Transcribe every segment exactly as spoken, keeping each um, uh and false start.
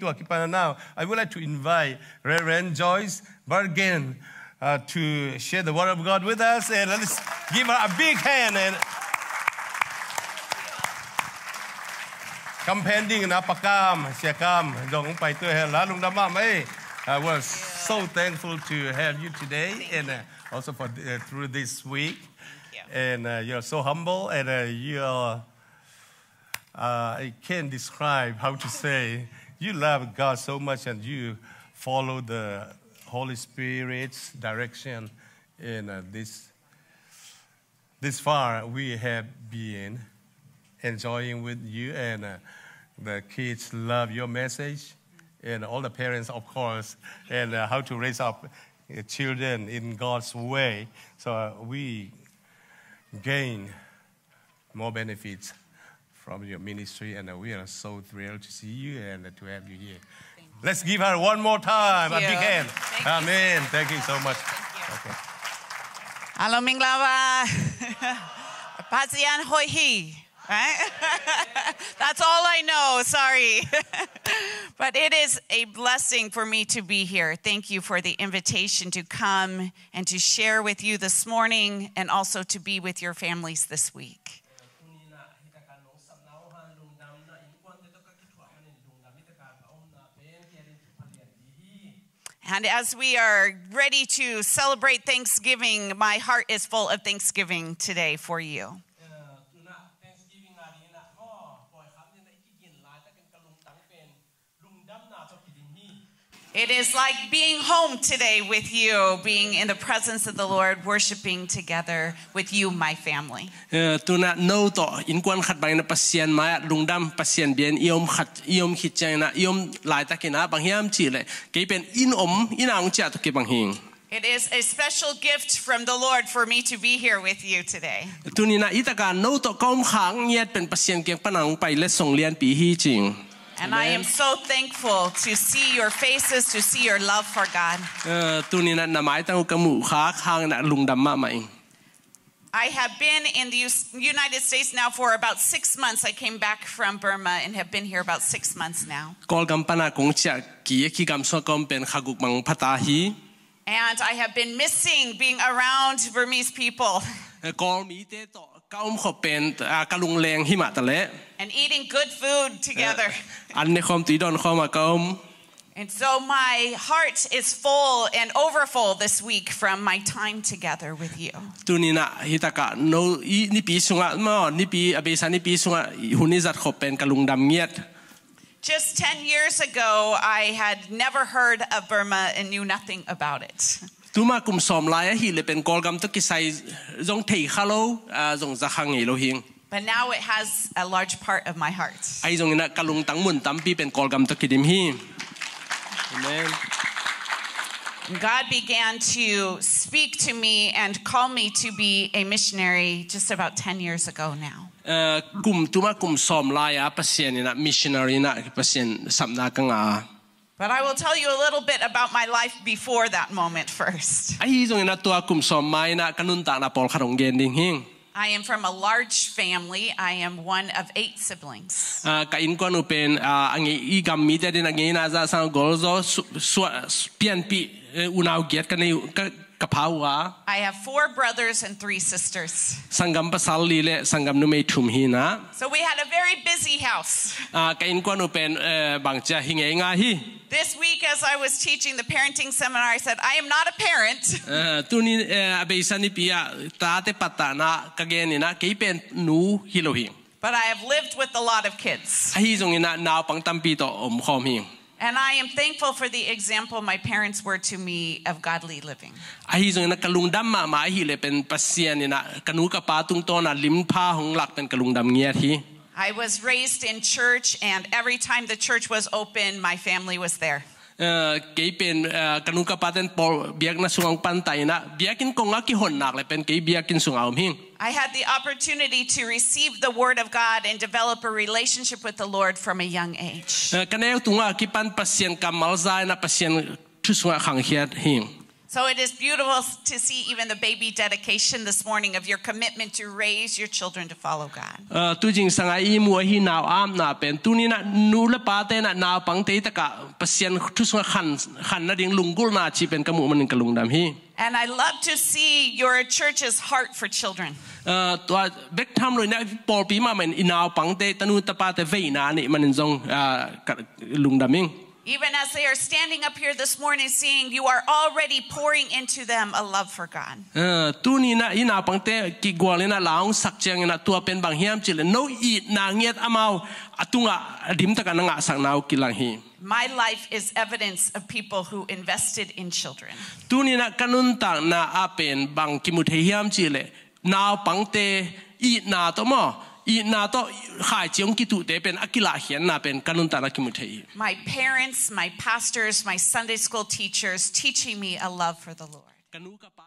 Tua kipan now, I would like to invite Reverend Joyce Bergen uh, to share the word of God with us. And let's give her a big hand. And kam pen ding na Pa Kam, Sia Kam, zong pai tu hen la lungdam mahmah ei. Uh, we're so thankful to have you today and uh, also for uh, through this week. And uh, you're so humble and uh, you're uh, I can't describe how to say. You love God so much and you follow the Holy Spirit's direction in uh, this. This far, we have been enjoying with you, and uh, the kids love your message, and all the parents, of course, and uh, how to raise up uh, children in God's way. So uh, we gain more benefits from your ministry, and uh, we are so thrilled to see you and uh, to have you here. Let's give her one more time a big hand. Amen. Thank you so much. Okay. Hello, မင်္ဂလာပါ. Pasian hoi hi. Right? That's all I know. Sorry. But it is a blessing for me to be here. Thank you for the invitation to come and to share with you this morning and also to be with your families this week. And as we are ready to celebrate Thanksgiving, my heart is full of thanksgiving today for you. It is like being home today with you, being in the presence of the Lord, worshiping together with you, my family. Eh, tuna no tawh innkuan khat bangin a Pasian mai-ah lungdam, Pasian bia-in i om khat, i om khit ciangin ah, i om laitakin ah bang hiam cihleh kei pen inn om, inn ah hong ciah tawh kibang hi ing. It is a special gift from the Lord for me to be here with you today. Tuni-in ah hi takah no tawh ka om khak ngiat pen Pasian kiang pan a hong pai letsong lianpi hi ci ing. And I am so thankful to see your faces, to see your love for God. Eh, tuni-in ah na maitang uh ka muh khak hangin ah lungdam mahmah ing. I have been in the U- United States now for about six months. I came back from Burma and have been here about six months now. Kawlgam pan a kong ciah kik a, kigam sungah ka om pen kha guk bang pha ta hi. And I have been missing being around Burmese people. Eh, Kawl mite tawh ka om khop pen, ah, ka lungleng hi mah taleh. And eating good food together. Eh, an ne khawm, tui dawn khawm a ka om. And so my heart is full and overfull this week from my time together with you. Tuni-in ah hi takah no i nipi sungah maw, nipi a beisa nipi sungah hun i zat khop pen ka lungdam ngiat. Just ten years ago, I had never heard of Burma and knew nothing about it. Tuma kum sawm lai ahih leh pen Kawlgam tawh kisai zong thei kha lo, ah, zong za kha ngei lo hi ing. But now it has a large part of my heart. Ahi zongin ah ka lungtang mun tampi pen Kawlgam tawh kidim hi. Amen. God began to speak to me and call me to be a missionary just about ten years ago now. Eh, kum tuma kum sawm lai-a Pasian in ah missionary in ah Pasian sapna ka ngah a. But I will tell you a little bit about my life before that moment first. Ahi zongin ah tua kum sawm ma-in ah ka nuntakna pawlkhat hong gen ding hi ing. I am from a large family. I am one of eight siblings. Ah, ka innkuan uh pen, ah, a ngei, i gam mite adingin a ngeina zah sang golzaw, su-, sua-, su-, pianpih, eh, unau giat ka nei uh, ka, ka pha uh a. I have four brothers and three sisters. Sanggam pasal li le sanggam numei thum hi-in ah. So we had a very busy house. Ah, ka innkuan uh pen, eh, bangci a hi ngeingai hi. This week, as I was teaching the parenting seminar, I said, "I am not a parent." Eh, tuni, eh, a beisa nipi ah tate pattahna ka genin ah kei pen nu hi lo hi ing. But I have lived with a lot of kids. Ahi zongin ah naupang tampi tawh omkhawm hi ing. And I am thankful for the example my parents were to me of godly living. Ahi zongin ah ka lungdam mahmah ahih leh pen Pasian in ah ka nu ka pa tungtawn ah limpha hong lak pen ka lungdam ngiat hi. I was raised in church, and every time the church was open, my family was there. Eh, kei pen, eh, ka nu ka pate'n pawl biakna sungah hong pantai-in ah, biakinn kong a kihon nak leh pen kei biakinn sungah om hi ing. I had the opportunity to receive the word of God and develop a relationship with the Lord from a young age. Eh, ka neu tungah kipan Pasian kammal za-in ah Pasian thu sungah khangkhia hi ing. So it is beautiful to see even the baby dedication this morning of your commitment to raise your children to follow God. Uh, tu zingsang a i mu ahi nau apna pen, tuni-in ah nu le pate in ah naupangte tak ah Pasian thu sungah khan, khan nading lunggulhna cih pen ka muh manin ka lungdam hi. And I love to see your church's heart for children. Uh, tua bek tham lo-in ah pawlpi mahmah in i naupangte, tanu tapate veina a neih manin zong, uh, ka lungdam ing. Even as they are standing up here this morning singing, you are already pouring into them a love for God. Uh, tuni-in ah i naupangte kigual-in ah la hong sak ciangin ah tua pen bang hiam cih leh no itna ngiat amau a tungah a dim tak a na ngahsakna uh kilang hi. My life is evidence of people who invested in children. Tuni-in ah ka nuntakna ah pen bang kimu thei hiam cih leh naupangte itna tawh maw, itna tawh khaici hong kituhte pen a kilahkhiatna pen ka nuntakna ah kimu thei hi. My parents, my pastors, my Sunday school teachers teaching me a love for the Lord. Ka nu ka pa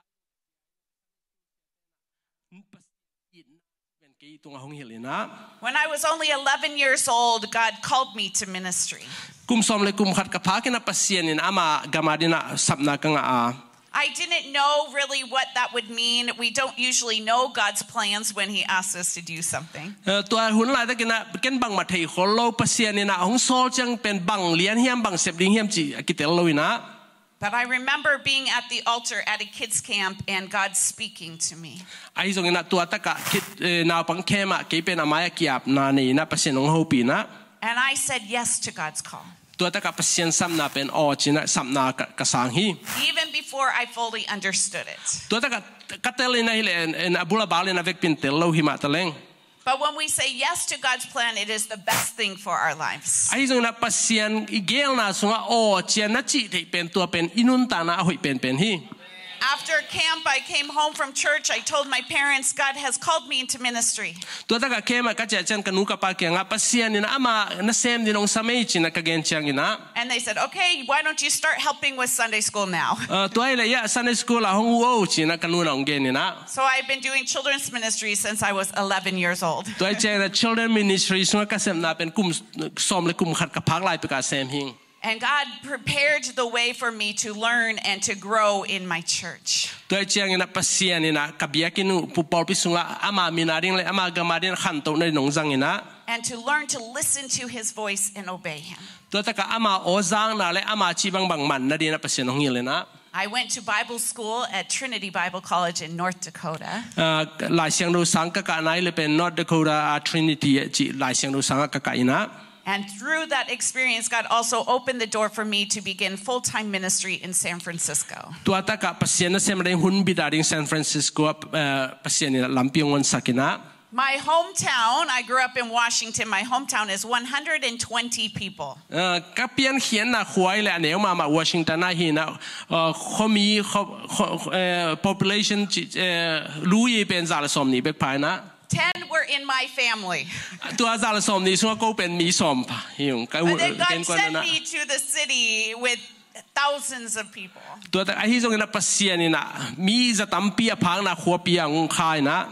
pen kei tungah hong hilh in ah. When I was only eleven years old, God called me to ministry. Kum sawm le kum khat ka phak in ah Pasian in ama gam adingin ah sapna ka ngah a. I didn't know really what that would mean. We don't usually know God's plans when He asks us to do something. Eh, tua hun laitakin ah ken bangmah thei khol lo, Pasian in ah hong sawl ciang pen bang lian hiam, bang sep ding hiam cih a kitel lo-in ah. But I remember being at the altar at a kids' camp and God speaking to me. Ahi zongin ah tua tak ah kid, eh, naupang camp ah kei pen a mai-ah ki-apna nei-in ah Pasian hong hopih in ah. And I said yes to God's call. Tua tak ah Pasian sapna pen aw ci-in ah sapna ka, ka sang hi. Even before I fully understood it. Tua tak ah ka tel in ah hi leh, en, en, a bul a bal in ah vekpi-in tel lo hi mah taleng. But when we say yes to God's plan, it is the best thing for our lives. Ahi zongin ah Pasian i geelna sungah aw ci-a na cih theih pen tua pen i nuntakna a hoih penpen hi. After camp, I came home from church. I told my parents, "God has called me into ministry." Tua tak ah camp ah ka ciah ciang ka nu ka pa kiangah, Pasian in ah ama nasem dingin hong sam ei ci-in ah ka gen ciangin ah. And they said, "Okay, why don't you start helping with Sunday school now?" Uh, tua hi leh, ya, Sunday school ah hong ut o ci-in ah ka nu in ah hong gen in ah. So I've been doing children's ministry since I was eleven years old. Tua hi ciangin ah children ministry sungah ka sepna pen kum sawm le kum khat ka phak lai pek a sem hi ing. And God prepared the way for me to learn and to grow in my church. Tua hi ciangin ah Pasian in ah ka biakinn uh, pu-, pawlpi sungah ama min ading le ama gam adingin khantohna dingin hong zang in ah. And to learn to listen to His voice and obey Him. Tua tak ah ama aw zakna le ama cih bangbang man nadingin ah Pasian hong hilh in ah. I went to Bible school at Trinity Bible College in North Dakota. Ah, Lai Siangtho sang ka kah nai le pen North Dakota, ah, Trinity, eh, cih Lai Siangtho sang ah ka kah in ah. And through that experience, God also opened the door for me to begin full-time ministry in San Francisco. Tua tak ah Pasian nasem ading hun bit ading San Francisco ah, eh, Pasian in ah lampi hong honsak in ah. My hometown, I grew up in Washington. My hometown is one hundred and twenty people. Uh, ka piankhiatna khua hi leh a neu mahmah Washington ah hi in ah, uh, khuami, khu-, khu-, eh, population ci, eh, lui pen za le sawmnih bek pha in ah. Ten were in my family. Tua za le sawmnih sungah ko pen mi sawm pha hi ung. Ka u-, But then God ken kuan sent na. me to the city with thousands of people. Tua tak ahi zongin ah Pasian in ah mi za tampi a phakna khuapi ah hong kha in ah.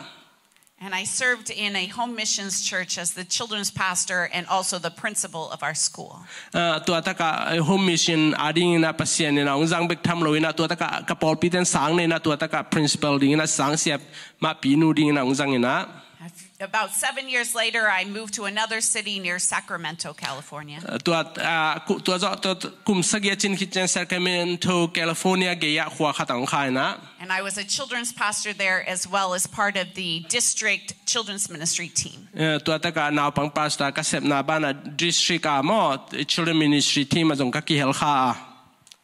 And I served in a home missions church as the children's pastor and also the principal of our school. Ah, tua tak ah, eh, home mission adingin ah Pasian in ah hong zang bek tham lo-in ah, tua tak ah ka pawlpite in sang nei in ah, tua tak ah principal dingin ah sang siam mahpi nu dingin ah hong zang in ah. About seven years later, I moved to another city near Sacramento, California. Ah, tua, ah, ku-, tua zawh, tua, tua, kum sagih a cin khit ciang Sacramento, California gei ah khua khat ah hong kha in ah. And I was a children's pastor there as well as part of the district children's ministry team. Eh, tua tak ah naupang pastor ka sepna banah district ah maw, children ministry team ah zong ka kihel kha a.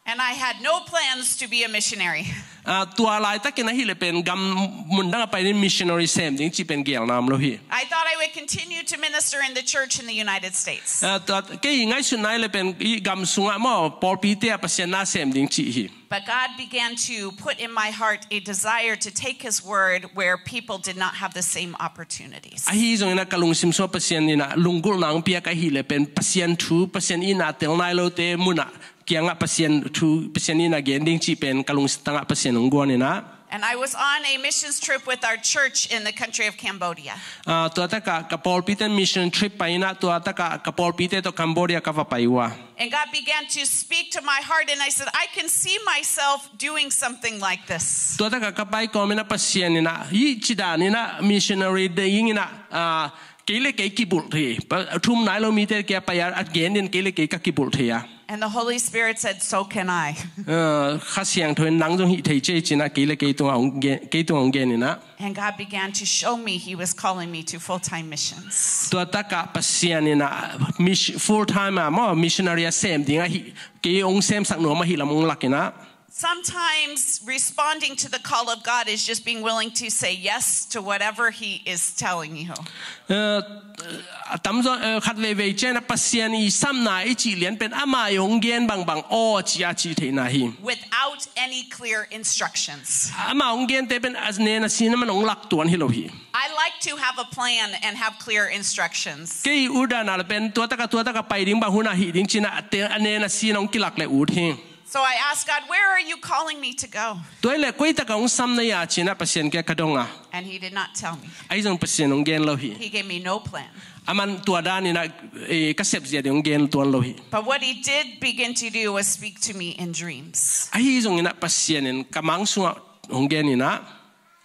And I had no plans to be a missionary. Ah, tua laitakin ahi leh pen gam mundang ah pai-in missionary sem ding cih pen geelna om lo hi. I thought I would continue to minister in the church in the United States. Ah, tua, kei ngaihsutna ahi leh pen i gam sungah maw, pawlpite ah Pasian na sem ding cih hi. But God began to put in my heart a desire to take His word where people did not have the same opportunities. Ahi zongin ah ka lungsim sungah Pasian in ah lunggulhna hong piak ahi leh pen Pasian thu, Pasian itna tel nai lote mun ah kiangah Pasian thu, Pasian itna gen ding cih pen ka lungsim tangah Pasian hong guan in ah. And I was on a missions trip with our church in the country of Cambodia. Ah, tua takah ka pawlpite mission trip pai inah, tua takah ka pawlpite tawh Cambodia ka va pai uh a. And God began to speak to my heart, and I said, "I can see myself doing something like this." Tua takah ka pai kawm inah Pasian inah, hih ci dan inah missionary ding inah, ah, kei le kei kibulh thei. Pa-, thum nai lo mite kia pai a, a gen ding kei le kei ka kibulh thei a. And the Holy Spirit said, "So can I." Ah, Kha Siangtho in nang zong hih thei ci ei ci inah kei le kei tungah hong gen, kei tungah hong gen inah. And God began to show me He was calling me to full-time missions. Tua takah Pasian inah mis-, full-time ah maw, missionary a sem ding ahi, kei hong semsak nuam ahi lam hong lak inah. Sometimes responding to the call of God is just being willing to say yes to whatever He is telling you. Eh, a tamzaw, eh, khat veivei ciang inah Pasian i samna i cih lian pen ama i hong gen bangbang aw ci a cih theihna hi. Without any clear instructions. Ama hong gente pen a nen a sin a man hong lak tuan hi lo hi. I like to have a plan and have clear instructions. Kei uh dan a le pen tua takah, tua takah pai ding, bang hun ah hih ding ci inah a te-, a nen a sin hong kilak le ut hi. So I asked God, "Where are you calling me to go?" Tua hi leh koi takah hong sam na hia ci inah Pasian kiang ka dong a. And He did not tell me. Ahi zong Pasian hong gen lo hi. He gave me no plan. Aman tua dan inah, eh, ka sep zia ding hong gen tuan lo hi. But what He did begin to do was speak to me in dreams. Ahi zong inah Pasian in ka mang sungah hong gen inah.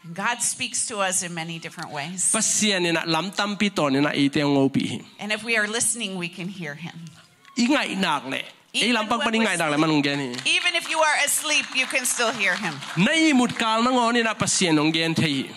And God speaks to us in many different ways. Pasian inah lam tampi tawn inah eite hong hopih hi. And if we are listening, we can hear Him. I ngaih nak leh, ei lam pang pan i ngaih nak leh man hong gen hi. Even if you are asleep, you can still hear Him. Na ihmut kal nangawn inah Pasian hong gen thei hi.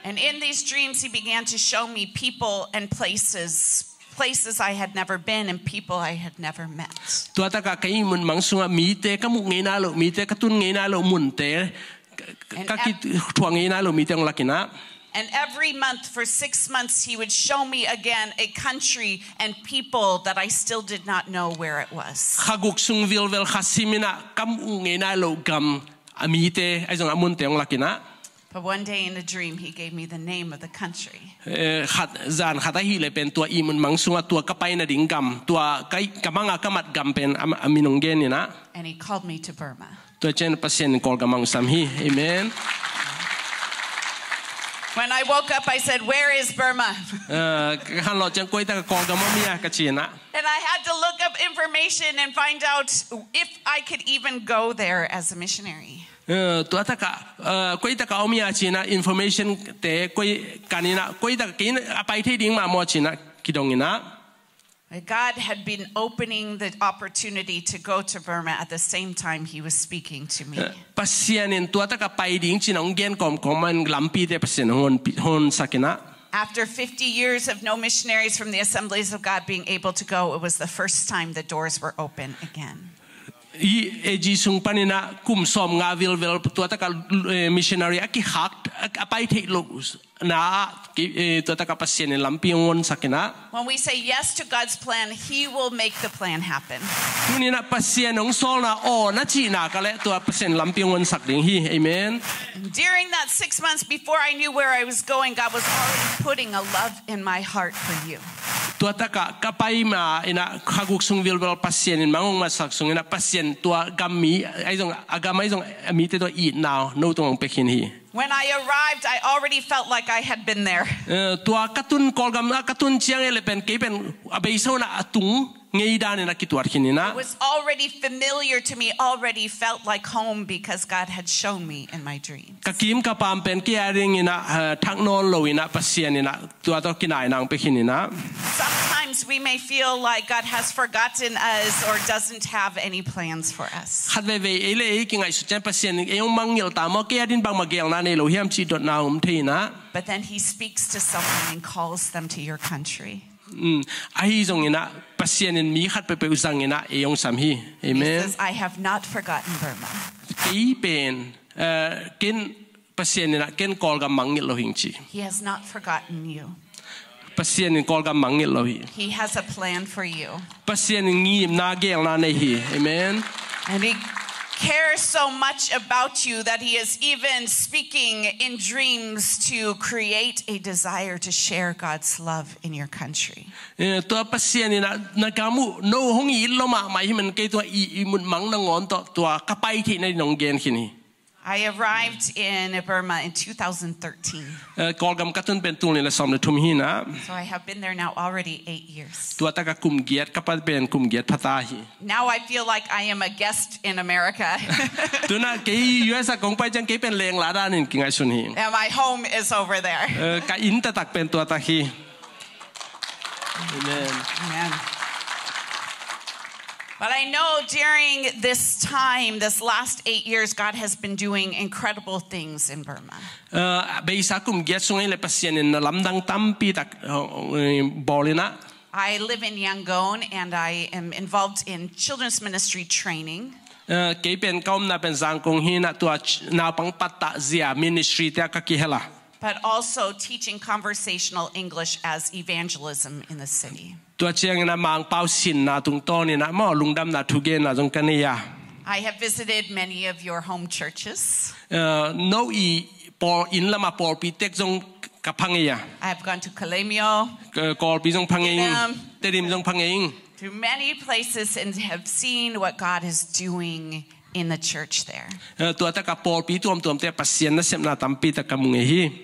And in these dreams, He began to show me people and places, places I had never been and people I had never met. Tua takah ka ihmut mang sungah mite ka muh ngei nai loh, mite ka tun ngei nai loh munte, ka, ka kithuah ngei nai loh mite hong lak inah. And every month for six months, He would show me again a country and people that I still did not know where it was. Kha guk sung vilvel kha sim inah ka muh ngei nai loh gam, a mite, ahi zong a munte hong lak inah. But one day in a dream, He gave me the name of the country. Eh, khat, zan khat ahih leh pen tua ihmut mang sungah tua ka pai nading gam, tua ka, ka mang a ka mat gam pen a, a min hong gen inah. And He called me to Burma. Tua ciang Pasian in Kawlgam hong sam hi. Amen. When I woke up, I said, "Where is Burma?" Eh, ka khanlawh ciang koi takah Kawlgam om hia ka ci inah. And I had to look up information and find out if I could even go there as a missionary. Eh, tua takah, eh, koi takah om hia ci inah information te koi kan inah, koi takah kei a pai thei ding mah maw ci inah kidong inah. God had been opening the opportunity to go to Burma at the same time He was speaking to me. Eh, Pasian in tua takah pai ding ci inah hong gen kawmkawm man lampite Pasian hong hon pi-, hon sak inah. After fifty years of no missionaries from the Assemblies of God being able to go, it was the first time the doors were open again. Hih A G sung pan inah kum sawmnga vilvel tua takah, eh, missionary a kikhak, a, a pai theih loh na ah, ki, eh, tua takah Pasian in lampi hong honsak inah. When we say yes to God's plan, He will make the plan happen. Tuni inah Pasian hong sawlna aw na cih nak leh tua Pasian lampi hong honsak ding hi. Amen. During that six months before I knew where I was going, God was already putting a love in my heart for you. Tua takah ka pai ma inah kha guk sung vilvel Pasian in mang hong honsak sung inah Pasian tua gam mi, ahi zong, a gam ahi zong a mite tua itna no tungah hong pia khin hi. When I arrived, I already felt like I had been there. Eh, tua ka tun Kawlgam ah ka tun ciang ei le pen kei pen a beisa un ah a tung ngei dan in a kituat khin inah. It was already familiar to me, already felt like home because God had shown me in my dreams. Ka kim ka pam pen kei a ding inah, eh, thak nawn lo inah Pasian inah tua tawh kinaina hong pia khin inah. Sometimes we may feel like God has forgotten us or doesn't have any plans for us. Khat veivei ei le ei kingaihsut ciang Pasian in ei hong mangngilh ta maw, kei a din bangmah geelna nei lo hiam cih dotna om thei inah. But then he speaks to someone and calls them to your country. Mm, ahi zong inah Pasian in mi khat peuhpeuh zang inah ei hong sam hi. Amen. He says, "I have not forgotten Burma." Kei pen, eh, ken Pasian inah ken Kawlgam mangngilh lo hing ci. He has not forgotten you. Pasian in Kawlgam mangngilh lo hi. He has a plan for you. Pasian in ngimna geelna nei hi. Amen. And he cares so much about you that he is even speaking in dreams to create a desire to share God's love in your country. Eh, tua Pasian inah na gam uh no hong it lo mahmah hi man kei tua i, ihmut mang nangawn tawh tua ka pai theihna ding hong gen khin hi. I arrived in Burma in two thousand thirteen. Eh, Kawlgam ka tun pen tul nih le sawm le thum hi na. So I have been there now already eight years. Tua tak a kum giat, ka pa pen kum giat pha ta hi. Now I feel like I am a guest in America. Tu-in ah kei U S a kong pai ciang kei pen lengla danin kingaihsun hi. And my home is over there. Eh, ka inn taktak pen tua tak hi. Amen. Amen. But I know during this time, this last eight years, God has been doing incredible things in Burma. Eh, beisa kum giat sung ah le Pasian in na lamdang tampi tak, eh, bawl in ah. I live in Yangon and I am involved in children's ministry training. Eh, kei pen ka omna pen Zangkong hi na, tua ch-, naupang pattah zia ministry te ah ka kihel a. But also teaching conversational English as evangelism in the city. Tua ciangin ah Mangpau sinna tungtawnin ah maw lungdamna thugenna zong ka nei a. I have visited many of your home churches. Eh, no i pawl, inn lam a pawlpi tek zong ka pha ngei a. I have gone to Kalemyo. Eh, Kawlpi zong pha ngei ing. Tedim. Tedim zong pha ngei ing. To many places and have seen what God is doing in the church there. Eh, tua tak a pawlpi tuamtuam te Pasian nasepna tampi tak ka mu ngei hi.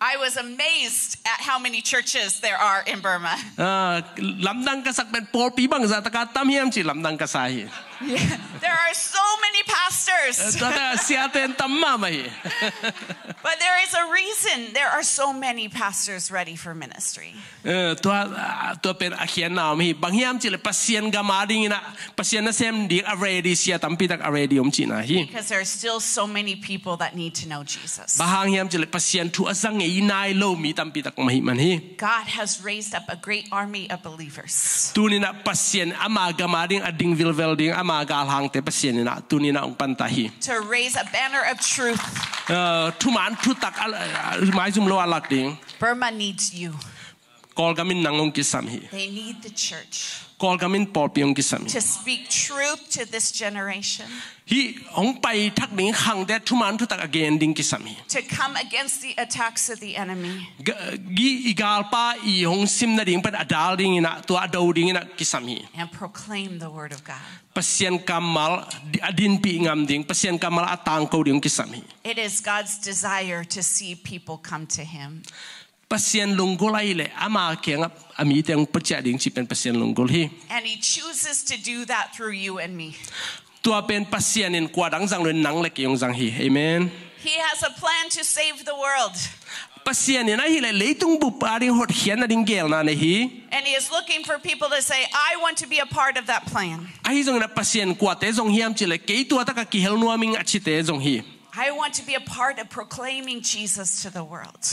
I was amazed at how many churches there are in Burma. Ah, lamdang ka sak pen pawlpi bangzah tak a tam hiam ci lamdang ka sa hi. Yeah. There are so many pastors. Eh, tua tak a siate tam mahmah hi. But there is a reason there are so many pastors ready for ministry. Eh, tua, ah, tua pen a khiatna om hi. Bang hiam cih leh Pasian gam a dingin ah, Pasian nasem ding a ready sia tampi tak a ready om cihna hi. Because there are still so many people that need to know Jesus. Bang hang hiam cih leh Pasian thu a za ngei nai lo mi tampi tak om ahih man hi. God has raised up a great army of believers. Tuni-in ah Pasian ama gam a ding a ding vilvel ding ama galhangte Pasian in ah tuni-in ah hong panta hi. To raise a banner of truth. Eh, thuman thutak a, a, maizum lo a lak ding. Burma needs you. Kawlgam in nang hong kisam hi. They need the church. Kawlgam in pawlpi hong kisam hi. To speak truth to this generation. Hih hong pai thak ding khangte thuman thutak a gen ding kisam hi. To come against the attacks of the enemy. Ga-, gi i galpa i hong sim nading pen a dal dingin ah, tua a do dingin ah kisam hi. And proclaim the word of God. Pasian kammal a dinpih ngam ding, Pasian kammal a tangko ding hong kisam hi. It is God's desire to see people come to him. Pasian lunggulh ahih leh ama kiangah a mite hong pia ciah ding cih pen Pasian lunggulh hi. And he chooses to do that through you and me. Tua pen Pasian in kua dang zang lo in nang le kei hong zang hi. Amen. He has a plan to save the world. Pasian in ahih leh leitung bup a ding hotkhiatna ding geelna nei hi. And he is looking for people to say, "I want to be a part of that plan." Ahi zongin ah Pasian kuate zong hiam cih leh kei tua tak a kihel nuam ing a cite zong hi. I want to be a part of proclaiming Jesus to the world.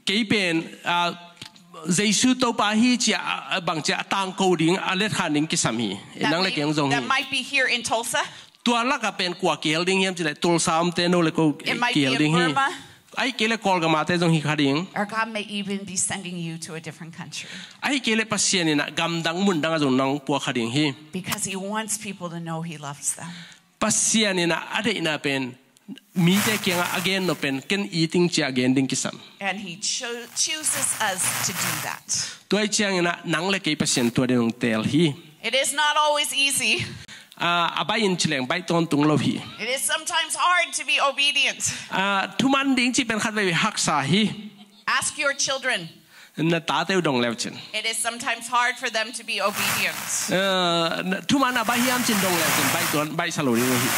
Kei pen, ah, Jesu Topa hi ci a, a bang ci a tangko ding, a letkhan ding kisam hi. Nang le kei hong zong hi. That might be here in Tulsa. Tua lak ah pen kua kihel ding hiam cih leh Tulsa omte no le ko kihel ding hi. It might be in Burma. Ahih kei leh Kawlgam a te zong hi kha ding. Or God may even be sending you to a different country. Ahih kei leh Pasian in ah gamdang mundang ah zong nang puak kha ding hi. Because he wants people to know he loves them. Pasian in ah a deihna pen mite kiangah a gen nop pen ken it ing ci a gen ding kisam. And he cho-, chooses us to do that. Tua ahih ciangin ah nang le kei Pasian tua ding hong teel hi. It is not always easy. Ah, a baih in ci leng baih tawntung lo hi. It is sometimes hard to be obedient. Ah, thuman ding cih pen khatveivei haksa hi. Ask your children. Na tate uh dong le uh cin. It is sometimes hard for them to be obedient. Eh, na, thuman a baih hiam cin dong le uh cin, baih tuan, baihsa lo ding uh hi.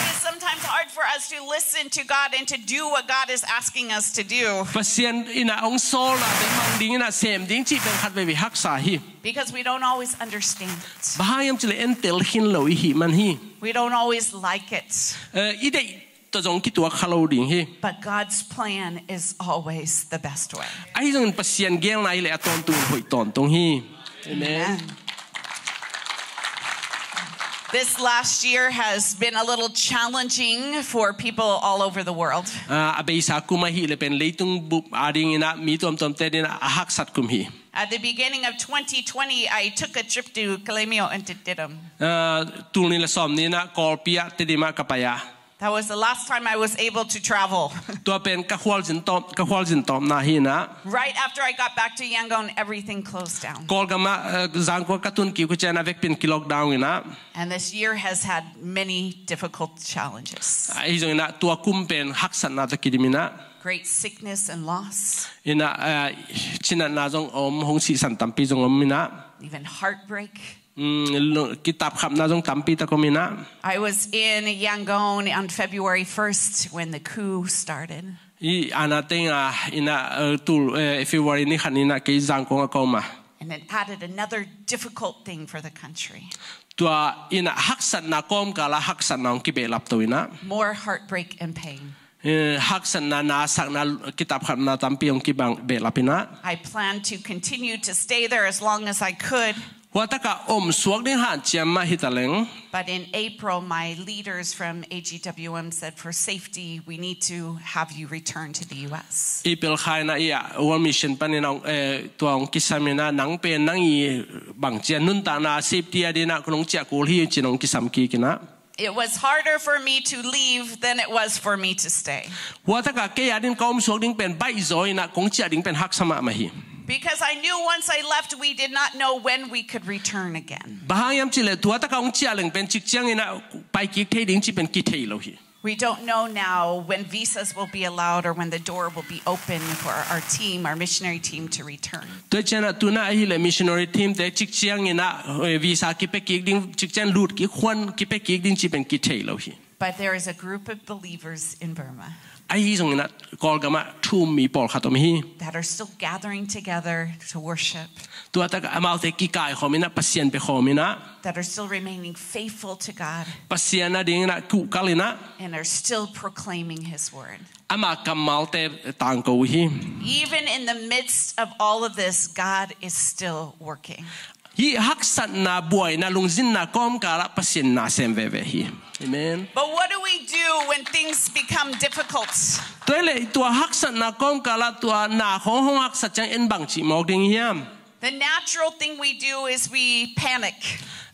It is sometimes hard for us to listen to God and to do what God is asking us to do. Pasian in ah hong sawlna pen mang dingin ah sem ding cih pen khatveivei haksa hi. Because we don't always understand it. Bang hang hiam cih leh en tel khin lo i hih man hi. We don't always like it. Eh, i deih tawh zong kituak kha lo ding hi. But God's plan is always the best way. Ahi zongin Pasian geelna hi leh a tawntungin hoih tawntung hi. Amen. Amen. This last year has been a little challenging for people all over the world. Ah, a beisa kum ahih leh pen leitung bup a dingin ah mi tuamtuamte dingin ah a haksat kum hi. At the beginning of twenty twenty, I took a trip to Kalemyo and to Tedim. Ah, tul nih le sawm nih in ah Kawlpi ah Tedim ah ka pai a. That was the last time I was able to travel. Tua pen ka khualzin tawp, ka khualzin tawpna hi inah. Right after I got back to Yangon, everything closed down. Kawlgam ah, eh, Zangkong ka tun kik uh ciang a vekpi in ki-lockdown inah. And this year has had many difficult challenges. Ahi zong inah tua kum pen haksatna tawh kidim inah. Great sickness and loss. Inah, eh, cinatna zong om, hong sihsan tampi zong om inah. Even heartbreak. Mm, lo-, kitapkhapna zong tampi tak om inah. I was in Yangon on February first when the coup started. I ana teng a inah, eh, tul, eh, February ni khat inah kei Zangkong ah ka om a. And it added another difficult thing for the country. Tua inah haksatna kawmkal ah haksatna hong kibehlap to inah. More heartbreak and pain. Eh, haksatna, nasakna, kitapkhapna tampi hong kibang behlap inah. I planned to continue to stay there as long as I could. Hua tak ah om suak ding hanciam mah hi taleng. But in April, my leaders from A G W M said, "For safety, we need to have you return to the U S." April kha inah i ah World Mission panin, eh, tua hong kisam inah nang pen nang i bangci a nuntakna safety a ding inah kong ciah kul hi ci-in hong kisam kik inah. It was harder for me to leave than it was for me to stay. Hua tak ah kei a ding ka om suak ding pen baihzaw inah kong ciah ding pen haksa mahmah hi. Because I knew once I left, we did not know when we could return again. Bang hang hiam cih leh tua tak ah hong ciah leng pen cik ciang inah pai kik thei ding cih pen kithei lo hi. We don't know now when visas will be allowed or when the door will be open for our team, our missionary team, to return. Tua ciang inah tu-in ah ahih leh missionary team te cik ciang inah, eh, visa kipia kik ding, cik ciang lut kik, huan kipia kik ding cih pen kithei lo hi. But there is a group of believers in Burma. Ahi zong inah Kawlgam ah thu-um mi pawlkhat om hi. That are still gathering together to worship. Tua tak ah amaute kikaikhawm inah, Pasian bekhawm inah. That are still remaining faithful to God. Pasian a ding inah kuhkal inah. And are still proclaiming his word. Ama kammalte tangko uh hi. Even in the midst of all of this, God is still working. Hih haksatna, buaina, lungzinna kawmkal ah Pasian na sem veve hi. Amen. But what do we do when things become difficult? Tua hi leh tua haksatna kawmkal ah tua na khawng hong haksat ciang en bangci mawk ding hiam? The natural thing we do is we panic.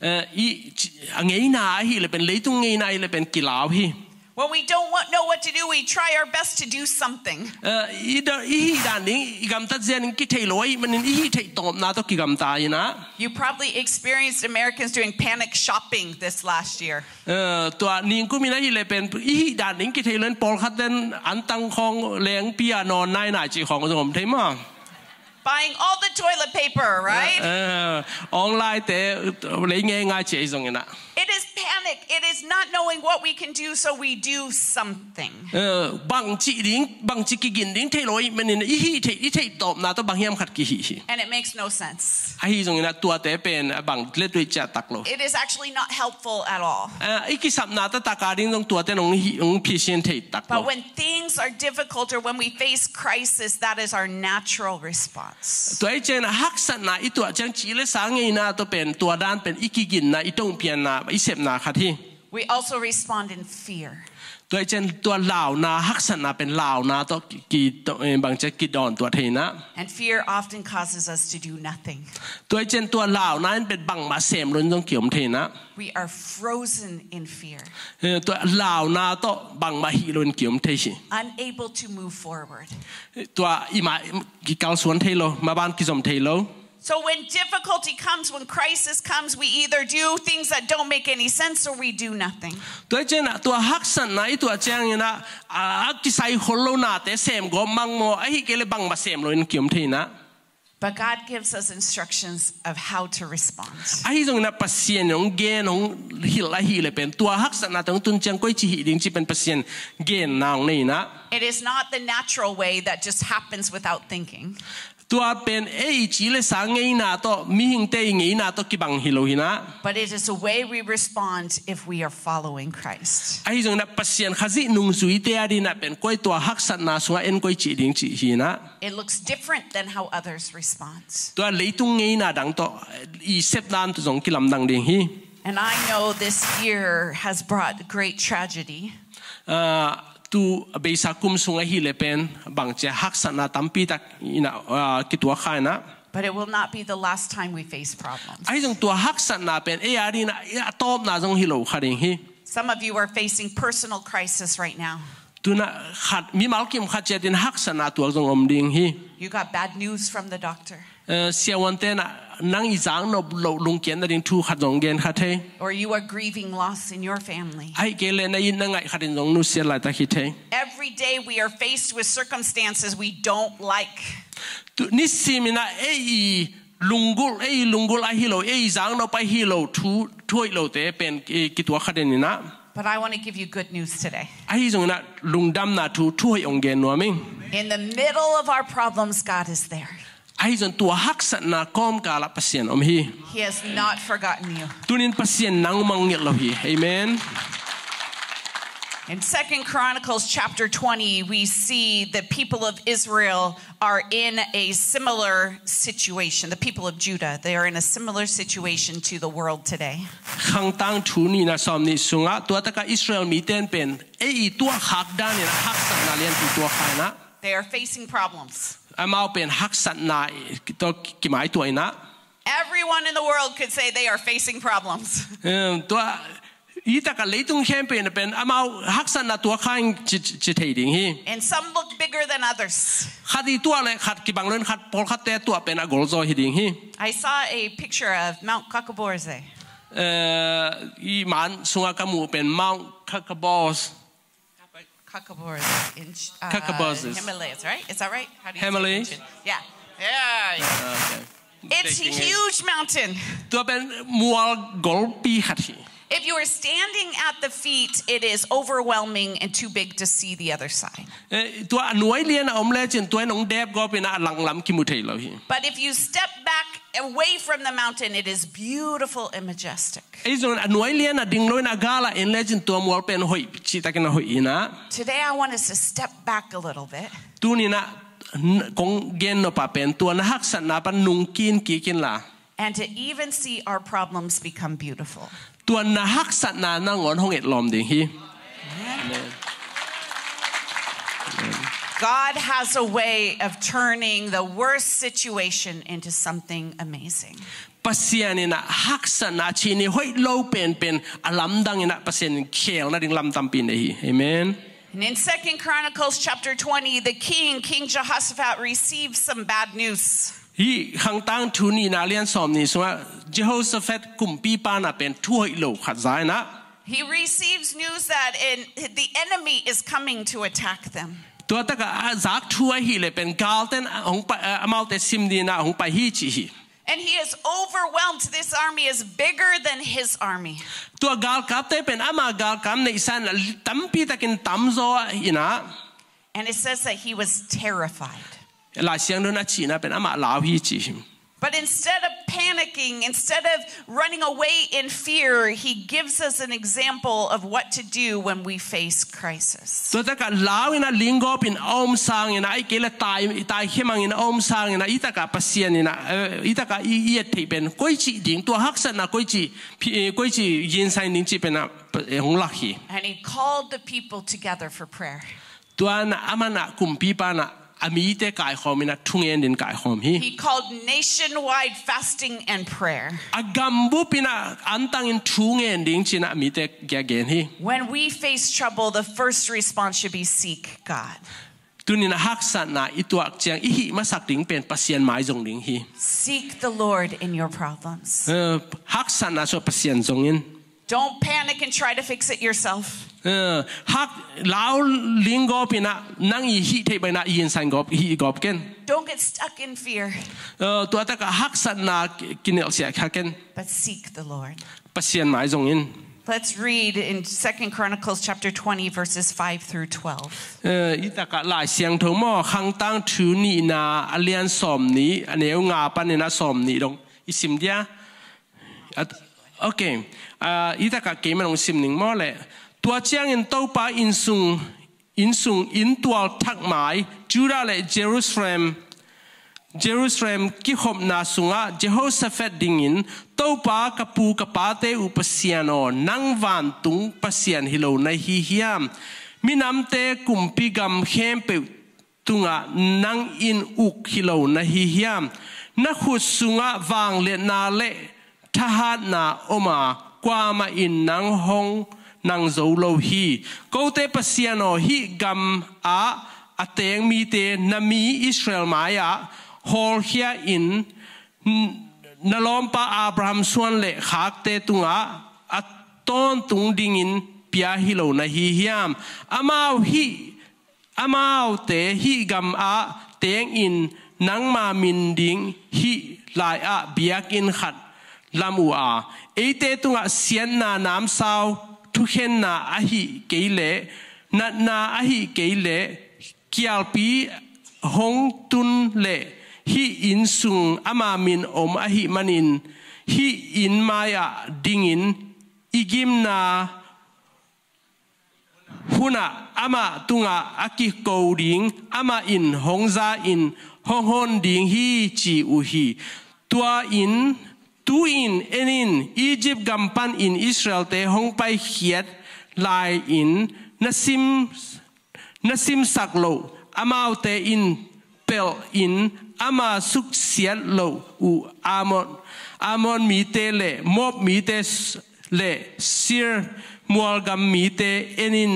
Eh, i, ci-, a ngeina ahih leh pen, leitung ngeina ahih leh pen kilau hi. When we don't wa-, know what to do, we try our best to do something. Eh, i da-, i hih dan ding, i gamtat zia ding kithei lo ahih manin i hih theih tawpna tawh kigamta inah. You probably experienced Americans doing panic shopping this last year. Eh, tua ningkum in ahih leh pen i hih dan ding kithei lo in pawlkhat ten antang khawng lengpi a nawn nainai cih khawng zong om thei maw. Buying all the toilet paper, right? Eh, eh, online te lei ngeingai ci-a i zong inah. It is panic. It is not knowing what we can do, so we do something. Eh, bangci ding, bangci kigin ding thei lo ahih manin i hih theih, i theih tawpna tawh bang hiam khat kihih hi. And it makes no sense. Ahi zong inah tuate pen a bang lettui ciah tak lo. It is actually not helpful at all. Eh, i kisapna taktak a ding zong tuate nong hi, nong phisian thei tak lo. But when things are difficult or when we face crisis, that is our natural response. Tua ahih ciangin haksatna i tuah ciang ci le sa ngeina tawh pen, tua dan pen i kiginna, i tongpianna, i sepna khat hi. We also respond in fear. Tua ahih ciang tua launa, haksatna pen launa tawh ki, ki, to, eh, bangci a kidawn tuah thei inah. And fear often causes us to do nothing. Tua ahih ciang tua launa in pen bangmah sem lo in zong kiom thei inah. We are frozen in fear. Eh, tua launa tawh bangmah hih lo in kiom thei hi. Unable to move forward. Eh, tua i mah, i kikalsuan thei lo, maban kizom thei lo. So when difficulty comes, when crisis comes, we either do things that don't make any sense or we do nothing. Tua ahih ciangin tua haksatna i tuah ciangin a, a kisai khol lo nate sem gawp mang maw, ahih kei leh bangmah sem lo in kiom thei inah. But God gives us instructions of how to respond. Ahi zongin a Pasian hong gen, hong hilh ahih leh pen tua haksatnate hong tun ciang koici hih ding cih pen Pasian genna hong nei inah. It is not the natural way that just happens without thinking. Tua pen ei ci le sa ngeina tawh, mihingte i ngeina tawh kibang hi lo hi inah. But it is a way we respond if we are following Christ. Ahi zongin a Pasian Khazih nungzuite a dingin a pen koi tua haksatna sungah en koici ding cih hi inah. It looks different than how others respond. Tua leitung ngeina dang tawh i sep dan tawh zong kilamdang ding hi. And I know this year has brought great tragedy. Ah, tu beisa kum sung ahih leh pen bangci a haksatna tampi tak inah, ah, kituak kha inah. But it will not be the last time we face problems. Ahi zong tua haksatna pen ei a dingin a, a tawpna zong hi lo kha ding hi. Some of you are facing personal crisis right now. Tuna khat, mimal kim khat ciatin haksatna tuak zong om ding hi. You got bad news from the doctor. Eh, siavuante na, nang i zak nop loh lungkiat nading thu khat zong gen kha thei. Or you are grieving loss in your family. Ahih kei leh na it na ngaih khatin zong nusiat laitak hi thei. Every day we are faced with circumstances we don't like. Tu, nisimin ah ei i lunggulh, ei i lunggulh ahi lo, ei i zak nop ahi lo thu, thu hoih lote pen, eh, kituak kha den in ah. But I want to give you good news today. Ahi zongin ah lungdamna thu, thu hoih hong gen nuam ing. In the middle of our problems, God is there. Ahi zongin tua haksatna kawmkal ah Pasian om hi. He has not forgotten you. Tunin Pasian nang mangngilh lo hi. Amen. In Second Chronicles chapter twenty, we see the people of Israel are in a similar situation. The people of Judah, they are in a similar situation to the world today. Khangtang thu nihna sawmnih sungah tua takah Israel mite in pen ei i tuahkhak danin ah haksatna lianpi tuak kha in ah. They are facing problems. Amau pen haksatna tawh kimaituah in ah. Everyone in the world could say they are facing problems. Em, tua, i takah leitung khempeuh in pen amau haksatna tuak kha ing ci, ci, ci thei ding hi. And some look bigger than others. Khat i tuah leh khat kibang lo in khat, pawlkhatte tuah pen a golzaw hi ding hi. I saw a picture of Mount Kakaborze. Eh, i man sungah ka muh pen Mount Kakabos. Kakaborze in, uh, Kakabos is Himalayas, right? Is that right? How do you say Himalayas? It? Yeah. Yeah. Okay. It's a huge mountain. Tua pen mual golpi khat hi. If you are standing at the feet, it is overwhelming and too big to see the other side. Eh, tua a nuai lian a om lecin tua in hong dep gawpin a langlam kimu thei lo hi. But if you step back away from the mountain, it is beautiful and majestic. Ei zong a nuai lian a ding lo in a gal a en lecin tua mual pen hoih, cihtakin a hoih in ah. Today I want us to step back a little bit. Tunin ah, n-, kong gen nop ah pen tua na haksatna pan nungkin kik inla. And to even see our problems become beautiful. Tua na haksatna nangawn hong etlawm ding hi. Amen. God has a way of turning the worst situation into something amazing. Pasian in ah haksatna, cihni hoih lo penpen a lamdang in ah Pasian in khel nading lam tampi nei hi. Amen. And in Second Chronicles chapter twenty, the king, King Jehoshaphat, receives some bad news. Hih Khangtang thu nihna lian sawmnih sungah Jehoshaphat kumpipa in ah pen thu hoih lo khat za in ah. He receives news that in, the enemy is coming to attack them. Tua takah a zak thu ahih leh pen galten hong pai, amaute sim dingin ah hong pai hi cih hi. And he is overwhelmed. This army is bigger than his army. Tua galkapte pen ama galkap neihsa in ah tampi takin tamzaw in ah. And it says that he was terrified. Lai Siangtho in a cihna pen amah lau hi ci hi. But instead of panicking, instead of running away in fear, he gives us an example of what to do when we face crisis. Tua takah lau in ah linggawp in a om sangin ah, ahih kei leh tai, taikhia mang in a om sangin ah, i takah Pasian in ah, eh, i takah i, i et theih pen koici ding, tua haksatna koici, phi-, eh, koici ginsan ding cih pen ah, eh, hong lak hi. And he called the people together for prayer. Tua in ah aman ah kumpipa in ah a mite kaikhawm in ah thungen dingin kaikhawm hi. He called nationwide fasting and prayer. A gambup in ah antangin thungen ding ci-in ah a mite kiangah gen hi. When we face trouble, the first response should be seek God. Tunin ah haksatna i tuak ciang i hih masak ding pen Pasian mai zong ding hi. Seek the Lord in your problems. Eh, haksatna sungah Pasian zong in. Don't panic and try to fix it yourself. Eh, hak lau linggawp in ah nang i hih theih bangin ah i ginsan gawp, hih gawp ken. Don't get stuck in fear. Eh, tua takah haksatna kinelhsiah kha ken. But seek the Lord. Pasian mai zong in. Let's read in Second Chronicles chapter twenty, verses five through twelve. Eh, i takah Lai Siangtho maw, Khangtang thu nihna a lian sawmnih, a neu nga panin a sawmnih dong i sim dia. At, okay. Ah, i takah keimah hong sim ning maw leh. Tua ciangin Topa inn sung, inn sung, inn tual thak mai, Judah le Jerusalem, Jerusalem kikhopna sungah Jehoshaphat dingin, Topa, ka pu ka pate uh Pasian aw, nang vantung Pasian hi lo na hi hiam? Minamte kumpi gam khempeuh tungah nang in uk hi lo na hi hiam? Na khut sungah vangliatna le thahatna om a, kuamah in nang hong, nang zo lo hi. Kote Pasian aw, hih gam ah a teng mite na mi Israel mai-ah hawlkhia in, na lawmpa Abraham suan le khakte tungah a tawntung dingin pia hi lo na hi hiam? Amau hih Amaute hih gam ah tengin nangma min ding hih lai-ah biakinn khat lam uh a, eite tungah siatna namsau thukhenna ahih kei leh, natna ahih kei leh, kialpi hong tun leh hih inn sung ama min om ahih manin hih inn mai-ah dingin i gimna hunah amah tungah a kiko ding, amah in hong za-in hong hon ding hi, ci uh hi. Tua in, tu-in en in, Egypt gam panin Israelte hong paikhiat lai-in na sim, na simsak loh amaute in pelhin ama suksiat loh uh Amon, Amon mite le Moab mite le Seir mualgam mite en in,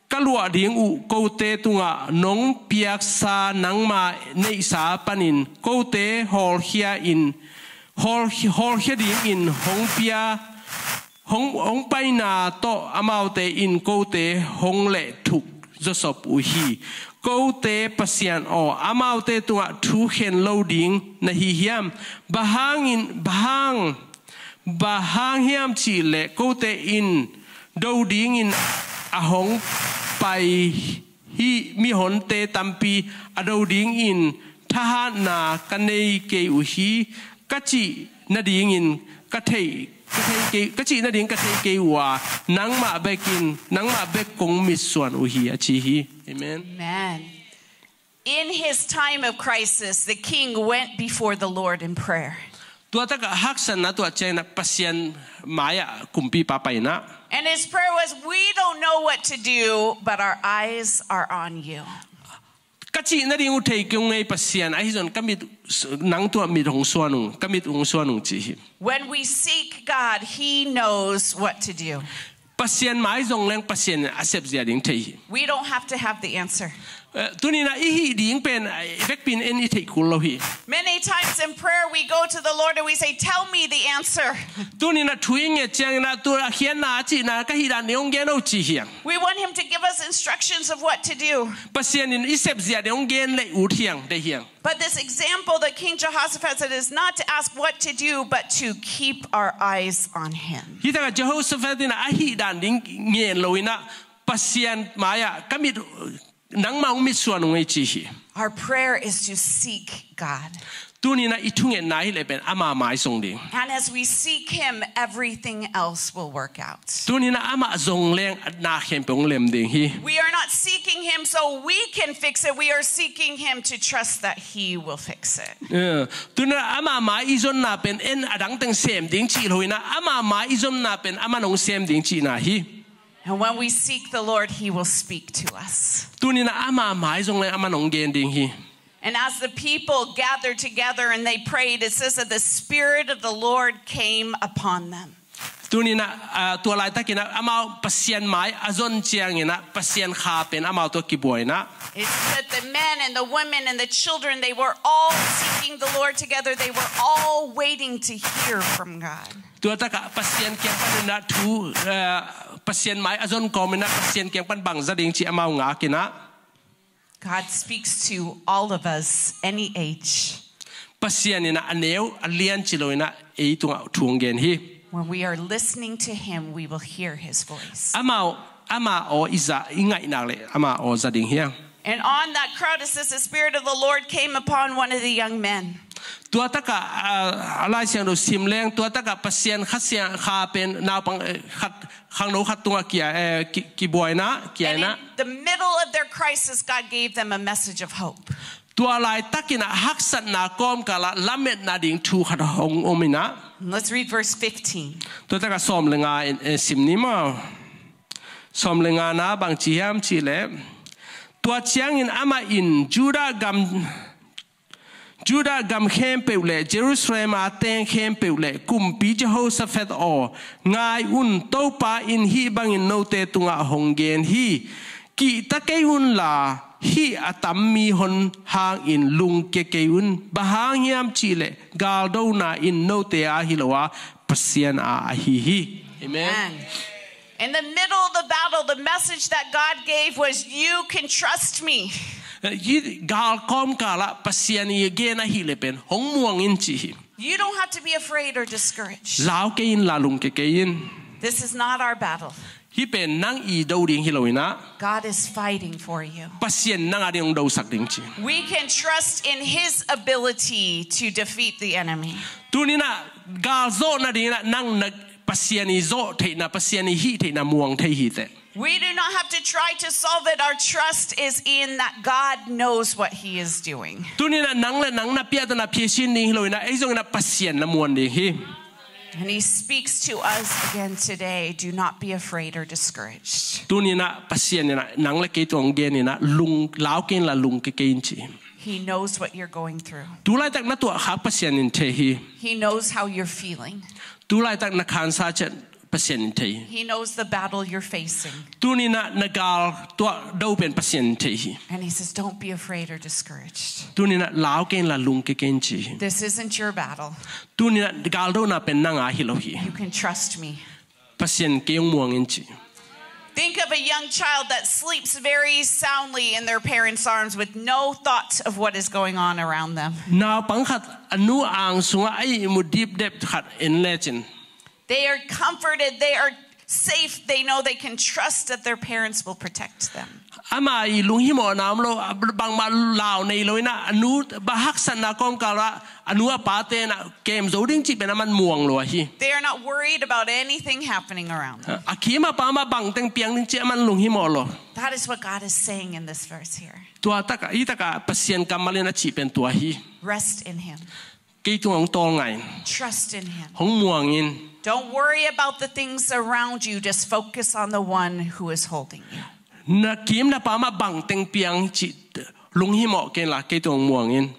ka luah ding uh kote tungah nong piaksa nangma neihsa panin kote hawlkhia in, hawl, hawlkhia dingin hong pia, hong, hong paina tawh amaute in kote hong lehthuk zawsop uh hi. Kote Pasian aw, amaute tungah thu khen lo ding na hi hiam? Bang hangin, bang hang, bang hang hiam cih leh kote in do dingin a hong pai hih mihonte tampi a do dingin thahatna ka nei kei uh hi, ka cih nadingin ka thei, ka thei kei, ka cih nading ka thei kei uh a, nangmah bekin, nangmah bek kong mitsuan uh hi, a ci hi. Amen. Amen. In his time of crisis, the king went before the Lord in prayer. Tua takah haksatna tuah ciangin ah Pasian mai-ah kumpipa pai-in ah. And his prayer was, "We don't know what to do, but our eyes are on you." Ka cih nading uh thei kei ung ei Pasian, ahi zong ka mit, nang tuah mit hong suan ung, ka mit hong suan ung ci hi. When we seek God, he knows what to do. Pasian mai zong leng Pasian in a sepzia ding thei hi. We don't have to have the answer. Eh, tuni-in ah i hih ding pen, eh, i vekpi-in en i theih kul lo hi. Many times in prayer, we go to the Lord and we say, "Tell me the answer." Tuni-in ah thu i nget ciangin ah, tu a khiatna a cihna ka hih dan ding hong gen o ci hi hang. We want him to give us instructions of what to do. Pasian in i sepzia ding hong gen leh ut hi hang, deih hi hang. But this example that King Jehoshaphat said is not to ask what to do, but to keep our eyes on him. Hi takah Jehoshaphat in ah a hih dan ding ngen lo-in ah Pasian mai-ah ka mit, nangmah hong mitsuan ung ei ci hi. Our prayer is to seek God. Tuni-in ah i thungetna hi leh pen ama mai zong ding. And as we seek him, everything else will work out. Tuni-in ah amah zong leng na khempeuh hong lem ding hi. We are not seeking him so we can fix it. We are seeking him to trust that he will fix it. Eh, tuni-in ah ama mai i zonna pen en a dang teng sem ding cih lo-in ah, ama mai i zonna pen aman hong sem ding cihna hi. And when we seek the Lord, he will speak to us. Tuni-in ah ama mai zong leng aman hong gen ding hi. And as the people gathered together and they prayed, it says that the Spirit of the Lord came upon them. Tuni-in ah, ah, tua laitakin ah amau Pasian mai a zon ciangin ah Pasian Kha pen amau tungah kibuai-in ah. It said the men and the women and the children, they were all seeking the Lord together. They were all waiting to hear from God. Tua takah Pasian kiang panin ah thu, eh, Pasian mai a zon kawmin ah Pasian kiang pan bang za ding cih amau ngakin ah. God speaks to all of us, any age. Pasian in ah a neu a lian ci lo-in ah ei tungah thu hong gen hi. When we are listening to him, we will hear his voice. Amau, ama aw i za, i ngaih nak leh ama aw za ding hi hang. And on that crowd, it says the Spirit of the Lord came upon one of the young men. Tua takah, ah, a Lai Siangtho sim leng, tua takah Pasian Kha Siang, Kha pen naupang, eh, khat, khangno khat tungah kia, eh, ki, kibuai-in ah, kia-in ah. And in the middle of their crisis, God gave them a message of hope. Tua laitakin ah haksatna kawmkal ah lametna ding thu khat hong om-in ah. Let's read verse fifteen. Tua takah sawm le nga in, eh, sim ni maw. Sawm le nga-na bang ci hiam cih leh, tua ciangin amah in Judah gam, Judah gam khempeuh le Jerusalem a teng khempeuh le kumpi Jehoshaphat aw, ngai un, Topa in hih bangin note tungah hong gen hi. Kihta kei unla, hih a tam mi hon hangin lungkia kei un. Bang hang hiam cihleh galdona in note a hi lo a, Pasian a ahi hi. Amen. Amen. In the middle of the battle, the message that God gave was, "You can trust me." Hih gal kawmkalah Pasian i gen ahih leh pen hong muang in ci hi. You don't have to be afraid or discouraged. Lau kei inla lungkia kei in. This is not our battle. Hih pen nang i do ding hi lo inah. God is fighting for you. Pasian nang a ding hong dosak ding ci. We can trust in his ability to defeat the enemy. Tuninah gal zawh nadinginah nang na Pasian i zawh theihna, Pasian i hih theihna muang thei hi teh. We do not have to try to solve it. Our trust is in that God knows what he is doing. Tuninah nang le nang na piahtana phiasin ding hi lo inah, ei zonginah Pasian na muan ding hi. And he speaks to us again today. Do not be afraid or discouraged. Tuninah Pasian inah nang le kei tungah hong gen inah, lung, lau kei inla lungkia kei in ci hi. He knows what you're going through. Tulaitak na tuahkhak Pasian in thei hi. He knows how you're feeling. Tulaitak na khansa ciat Pasian in thei hi. He knows the battle you're facing. Tuninah na gal tuah do pen Pasian in thei hi. And he says, "Don't be afraid or discouraged." Tuninah lau kei inla lungkia kei in ci hi. This isn't your battle. Tuninah galdona pen nang a hi lo hi. You can trust me. Pasian kei hong muang in ci. Think of a young child that sleeps very soundly in their parents' arms with no thought of what is going on around them. Naupang khat a nu ang sungah a ihmu dipdep khat en lecin. They are comforted. They are safe. They know they can trust that their parents will protect them. Ama i lunghimawhna om lo, bangmah lau nei lo inah, a nu bang haksatna kawmkalah a nu a pate inah kem zo ding cih pen aman muang lo ahi. They are not worried about anything happening around them. A kim a pam ah bangteng piang ding cih aman lunghimawh lo. That is what God is saying in this verse here. Tua takah, hih takah Pasian kammal in a cih pen tua hi. Rest in him. Kei tungah hong tawlnga in. Trust in him. Hong muang in. Don't worry about the things around you. Just focus on the one who is holding you. Na kim na pam ah bangteng piang cih lunghimawh kei inla kei tungah hong muang in.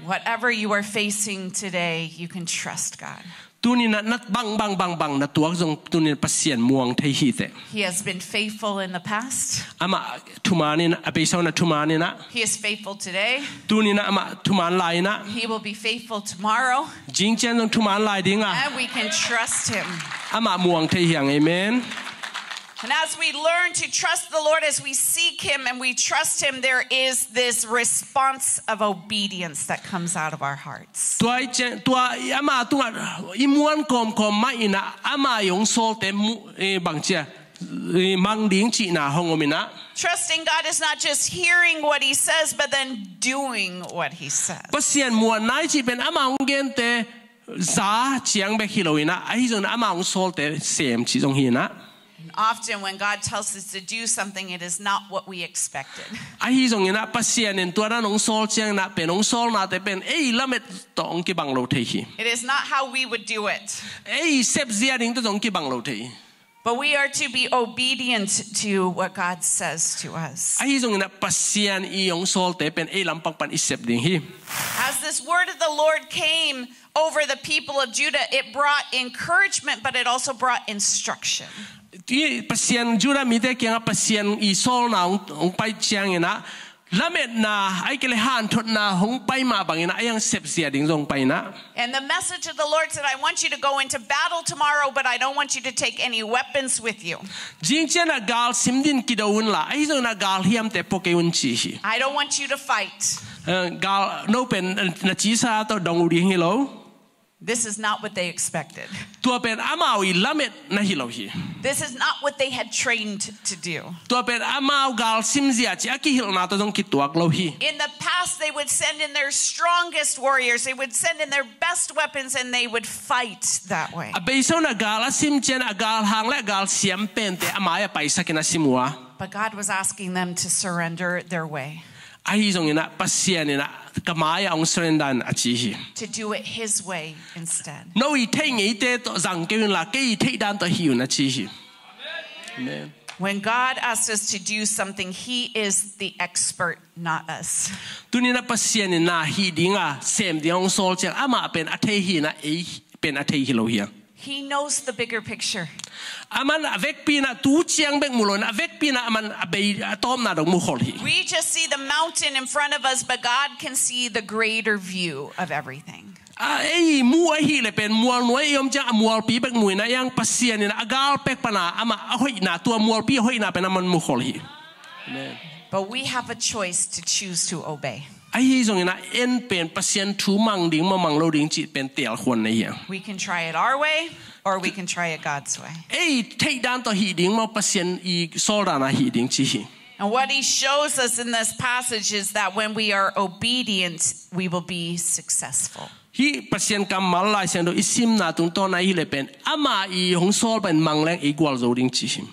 Whatever you are facing today, you can trust God. Tuninah na bang, bang, bang, bang na tuak zong tuninah Pasian muang thei hi teh. He has been faithful in the past. Amah thuman inah, a beisa un a thuman inah. He is faithful today. Tuninah amah thuman lai inah. He will be faithful tomorrow. Zingciang zong thuman lai dingah. And we can trust him. Amah muang thei hi hang, amen. And as we learn to trust the Lord, as we seek him and we trust him, there is this response of obedience that comes out of our hearts. Tua i ciang, tua i ama tungah i muan kawmkawm mah inah ama i hong sawlte mu, eh, bangcia, eh, mang ding cihna hong om inah. Trusting God is not just hearing what he says, but then doing what he says. Pasian muanna i cih pen ama hong gente za ciang bek hi lo inah, ahi zongin ama hong sawlte sem cih zong hi inah. And often when God tells us to do something, it is not what we expected. Ahi zonginah Pasian in tua dan hong sawl cianginah pen hong sawlnate pen ei lamet tawh hong kibang lo thei hi. It is not how we would do it. Ei sepzia ding tawh zong kibang lo thei hi. But we are to be obedient to what God says to us. Ahi zonginah Pasian i hong sawlte pen ei lampang pan i sep ding hi. As this word of the Lord came over the people of Judah, it brought encouragement, but it also brought instruction. Pasian Judah mite kiangah Pasian i sawlna hong, hong pai cianginah lametna, ahih kei leh hanthotna hong pai mah banginah a hiang sepzia ding zong pai inah. And the message of the Lord said, "I want you to go into battle tomorrow, but I don't want you to take any weapons with you." Zingcianah gal sim din kido unla, ahi zonginah gal hiamte pua kei un ci hi. I don't want you to fight. Eh, gal no pen na cisa tawh dong uh ding hi lo. This is not what they expected. Tua pen amau i lametna hi lo hi. This is not what they had trained to do. Tua pen amau gal simzia cih a kihilhna tawh zong kituak lo hi. In the past, they would send in their strongest warriors. They would send in their best weapons, and they would fight that way. A beisa unah gal a sim ciang a gal hang le a gal siam pente a mai-ah paisakin a sim uh a. But God was asking them to surrender their way. Ahi zonginah Pasian inah ka mai-ah hong surrender in a ci hi. To do it his way instead. No i theih ngeite tawh zang kei unla kei i theih dan tawh hi un a ci hi. Amen. When God asks us to do something, He is the expert, not us. Tuni-in ah Pasian in na hih ding a sem ding hong sawl ciang amah pen a thei hi-in ah ei pen a thei hi lo hi hang. He knows the bigger picture. Aman a vekpi-in ah tu ciang bek mu lo-in a vekpi-in ah aman a bei a tawpna dong mu khol hi. We just see the mountain in front of us, but God can see the greater view of everything. A ei mu ahih leh pen mual nuai i om ciang a mualpi bek mu-in ah, ei ang Pasian in ah a gal pek pan a amah a hoihna, tua mualpi a hoihna pen aman mu khol hi. Amen. But we have a choice to choose to obey. Ahi zongin ah en pen Pasian thu mang ding maw mang lo ding cih pen teelkhuan nei hi hang. We can try it our way, or we can try it God's way. Ei theih dan tawh hih ding maw, Pasian i sawl dan a hih ding cih hi. And what He shows us in this passage is that when we are obedient, we will be successful. Hih Pasian kammal Lai Siangtho i simna tungtawn ahih leh pen ama i hong sawl pen mang leng i gualzo ding cih hi.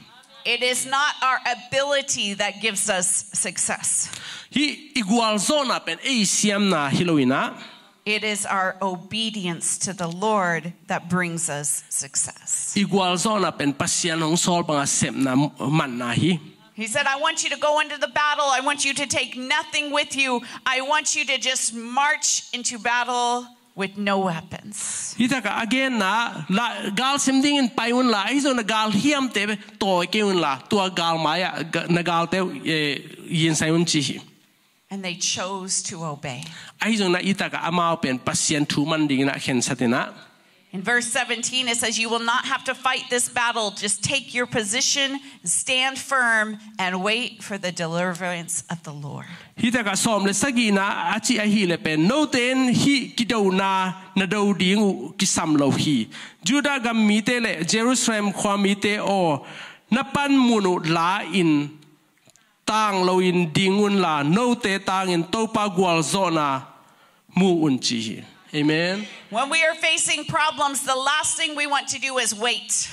It is not our ability that gives us success. Hih i gualzawhna pen ei siamna hi lo-in ah, It is our obedience to the Lord that brings us success. I gualzawhna pen Pasian hong sawl bang a sepna manna hi. He said, "I want you to go into the battle. I want you to take nothing with you. I want you to just march into battle with no weapons." Hih takah a genna, la, gal sim dingin pai unla, ahi zongin ah gal hiamte tawi kei unla, tua gal mai-ah ga-, na galte, eh, yinsai un cih hi. And they chose to obey. Ahi zongin ah hih takah amau pen Pasian thu man dingin ah khensat in ah. In verse seventeen, it says, "You will not have to fight this battle. Just take your position, stand firm, and wait for the deliverance of the Lord." Hih takah sawm le sagihna a cih ahih leh pen, note in hih kidona na do ding uh kisam lo hi. Judah gam mite le Jerusalem khua mite aw, na panmun uh la-in tang lo-in ding unla, note tangin Topa gualzawhna mu un cih hi. Amen. When we are facing problems, the last thing we want to do is wait.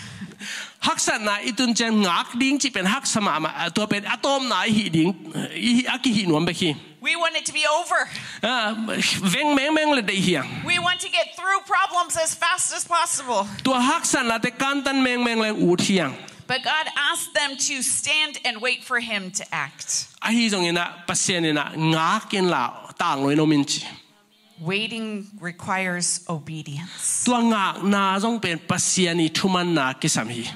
Haksatna i tun ciang ngak ding cih pen haksa mahmah, tua pen a tawpna i hih ding, i, a kihih nuam bek hi. We want it to be over. Ah, veng mengmeng le deih hi hang. We want to get through problems as fast as possible. Tua haksatnate kantan mengmeng leng ut hi hang. But God asked them to stand and wait for Him to act. Ahi zongin ah Pasian in ah ngak inla tang lo-in om in ci. Waiting requires obedience. Tua ngakna zong pen Pasian i thumanna kisam hi.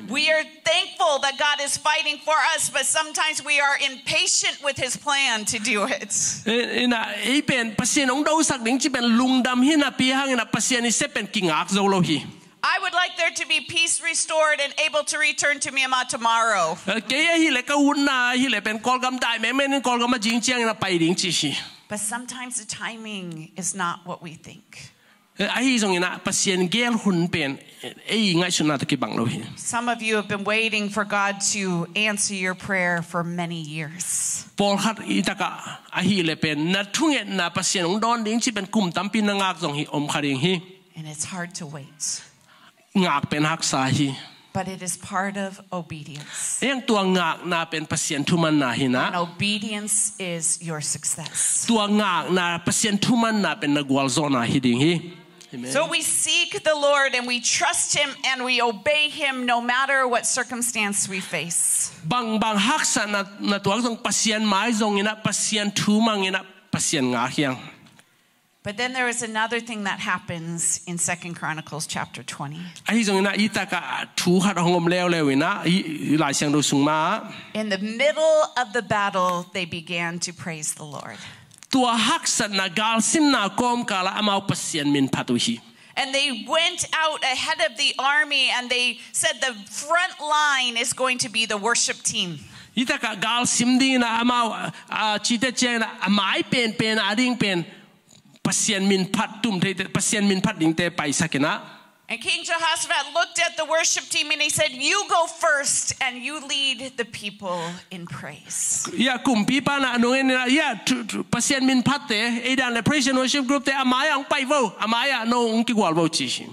We are thankful that God is fighting for us, but sometimes we are impatient with His plan to do it. Eh, in ah, ei pen Pasian hong dosak ding ci pen lungdam hi napi hangin ah Pasian i sep pen kingak zo lo hi. I would like there to be peace restored and able to return to Myanmar tomorrow. Eh, kei ahih leh ka utna ahih leh pen Kawlgam dai mengmeng in Kawlgam a zing ciangin a pai ding ci hi. But sometimes the timing is not what we think. Eh, ahi zongin ah Pasian gel hun pen, eh, ei ngaihsutna tawh kibang lo hi. Some of you have been waiting for God to answer your prayer for many years. Pawlkhat i takah ahih leh pen na thungetna Pasian hong dawn ding ci pen kum tampi na ngak zong hi om kha ding hi. And it's hard to wait. Ngak pen haksa hi. But it is part of obedience. Ei ang tua ngakna pen Pasian thumanna hi na. And obedience is your success. Tua ngakna Pasian thumanna pen na gualzawhna hi ding hi. Amen. So we seek the Lord and we trust Him and we obey Him no matter what circumstance we face. Bangbang haksatna na tuak zong Pasian mai zongin ah Pasian thu mangin ah Pasian ngak hi hang. But then there is another thing that happens in Second Chronicles chapter twenty. Ahi zongin ah i takah thu khat hong om leuleu in ah, i, i Lai Siangtho sung mah. In the middle of the battle, they began to praise the Lord. Tua haksatna galsimna kawmkal ah amau Pasian min phat uh hi. And they went out ahead of the army and they said the front line is going to be the worship team. Hi takah galsim dingin ah amau, ah, cite ciangin ah a mai penpen a ding pen Pasian min phat tum theite, Pasian min phat dingte paisak in ah. And King Jehoshaphat looked at the worship team and he said, "You go first and you lead the people in praise." Ya, kumpipa in ah a nung en in ah, ya, thu, thu, Pasian min phatte, ei dan le praise and worship group te a mai-ah hong pai vo, a mai-ah no hong kigual vo ci hi.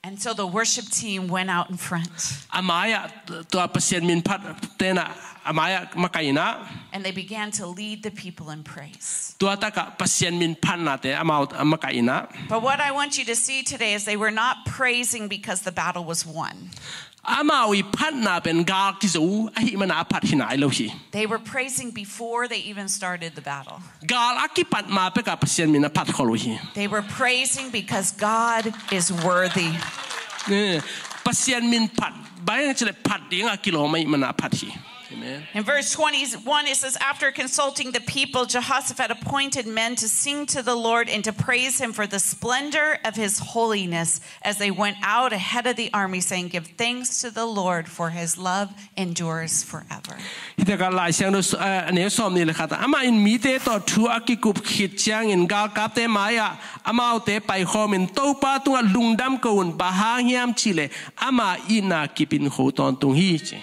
And so the worship team went out in front. A mai-ah tua Pasian min phatte in ah a mai-ah makaih in ah. And they began to lead the people in praise. Tua takah Pasian min phatnate amau a makaih in ah. But what I want you to see today is they were not praising because the battle was won. Amau i phatna pen gal kizo ahih mana a phat hi nai lo hi. They were praising before they even started the battle. Gal a kipat ma peka Pasian min a phat khol uh hi. They were praising because God is worthy. Eh, Pasian min phat, bang hang cih leh phat ding a kilawm ahih mana a phat hi. Amen. In verse twenty-one, it says, "After consulting the people, Jehoshaphat appointed men to sing to the Lord and to praise him for the splendor of his holiness as they went out ahead of the army, saying, 'Give thanks to the Lord, for his love endures forever.'" Hih takah Lai Siangtho, eh, a neu sawmnih le khat ah, amah in mite tawh thu a kikup khit ciangin galkapte mai-ah amaute paikhawmin, "Topa tungah lungdam ko un, bang hang hiam cih leh ama itna kip in kho tawntung hi," ci.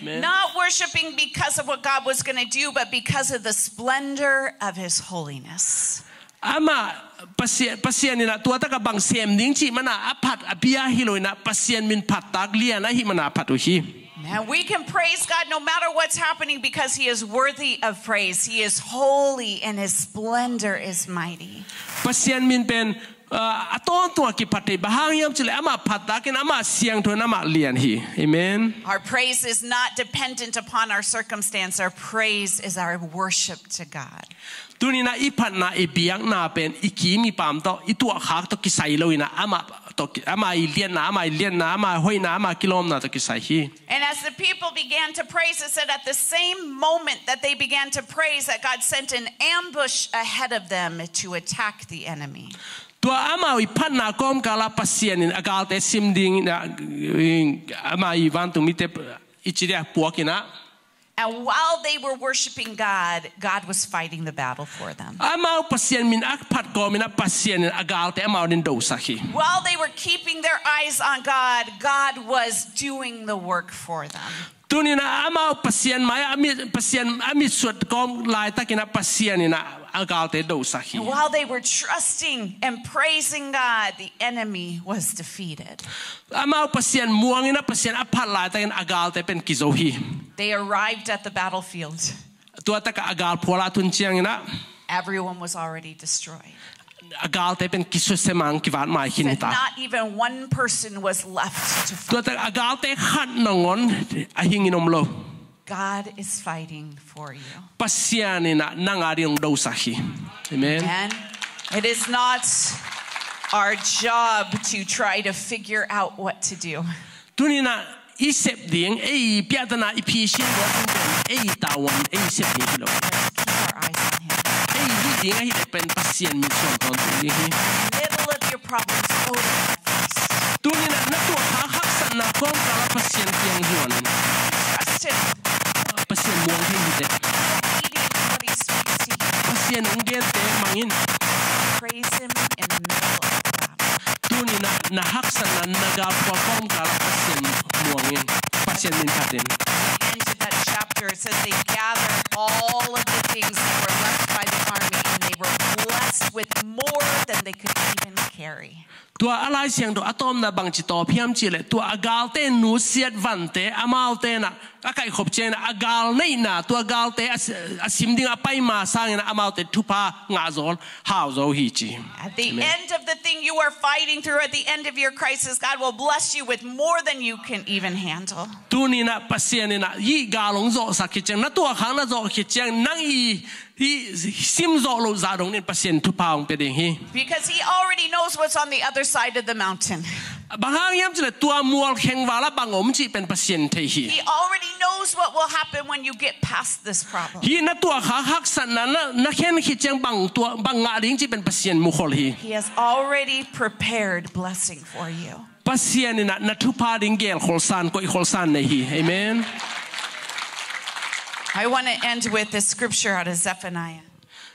Amen. Not worshiping because of what God was gonna do, but because of the splendor of his holiness. Amah Pasian, Pasian in ah tua takah bang sem ding cih mana a phat a bia hi lo in ah, Pasian min phattak lian ahih mana a phat uh hi. Amen. We can praise God no matter what's happening because he is worthy of praise. He is holy and his splendor is mighty. Pasian min pen, ah, a tawntung a kiphat thei, bang hang hiam cih leh amah phattakin, amah siangtho in, amah lian hi. Amen. Our praise is not dependent upon our circumstance. Our praise is our worship to God. Tuni in ah i phatna, i biakna pen i kim i pam tawh, i tuahkhak tawh kisai lo in ah, amah tawh ki-, amah i lianna, amah i lianna, amah hoihna, amah kilawmna tawh kisai hi. And as the people began to praise, it said, at the same moment that they began to praise, that God sent an ambush ahead of them to attack the enemy. Tua amau i phatna kawmkal ah Pasian in a galte sim ding in ah, amah i vantung mite i ci dia puak in ah. And while they were worshiping God, God was fighting the battle for them. Amau Pasian min a phat kawm in ah Pasian in a galte amau adingin dosak hi. While they were keeping their eyes on God, God was doing the work for them. Tuni in ah amau Pasian mai-ah a mit, Pasian a mitsuat kawm laitakin ah Pasian in ah a galte dosak hi. And while they were trusting and praising God, the enemy was defeated. Amau Pasian muang in ah Pasian a phat laitakin a galte pen kizo hi. They arrived at the battlefield. Tua takah a galphual ah a tun ciangin ah, everyone was already destroyed. A galte pen kisusia mang, kivat mai khin hi ta. Said not even one person was left to fight. Tua takah a galte khat nangawn a hingin om lo. God is fighting for you. Pasian in ah nang adingin dosak hi. Amen. Amen. It is not our job to try to figure out what to do. Tuni in ah i sep ding, ei piahtana i phisin buat ding pen ei tavuan, ei sep ding hi lo. Let's keep our eyes on him. Ei hih ding ahih leh pen Pasian min suan tawntung ding hi. Middle of your problems, go to God first. Tuni in ah na tuahkhak haksatna kawmkal ah Pasian kiang zuan in. Trust him. Pasian muang thei hi teh. Obedience to what he speaks to you. Pasian hong gente mang in. Praise him in the middle of the battle. Tuni in ah na haksatna, na galphual kawmkal ah Pasian muang in. Pasian min phat in. At the end of that chapter, it says they gathered all of the things that were left by the army, and they were blessed with more than they could even carry. Tua a Lai Siangtho a tawpna bangci tawp hiam cih leh, tua a galte nusiat vante, amaute in ah a kaihkhop ciangin ah a gal neihna, tua galte a si-, a sim ding a pai ma sangin ah amaute thupha ngah zaw, hau zaw hi ci. At the end of the thing you are fighting through, at the end of your crisis, God will bless you with more than you can even handle. Tuni in ah Pasian in ah hih gal hong zawhsak khit ciang, na tuahkhak na zawh khit ciang, nang i, i sim zawh loh zah dongin Pasian thupha hong pia ding hi. Because he already knows what's on the other side of the mountain. Bang hang hiam cih leh tua mual khengval ah bang om cih pen Pasian thei hi. He already knows what will happen when you get past this problem. Hih na tuahkhak haksatna na, na khen khit ciang bang tua, bang ngah ding cih pen Pasian mukhol hi. He has already prepared blessing for you. Pasian in ah na thupha ding gelkholsan, koihkholsan nei hi. Amen. I want to end with this scripture out of Zephaniah.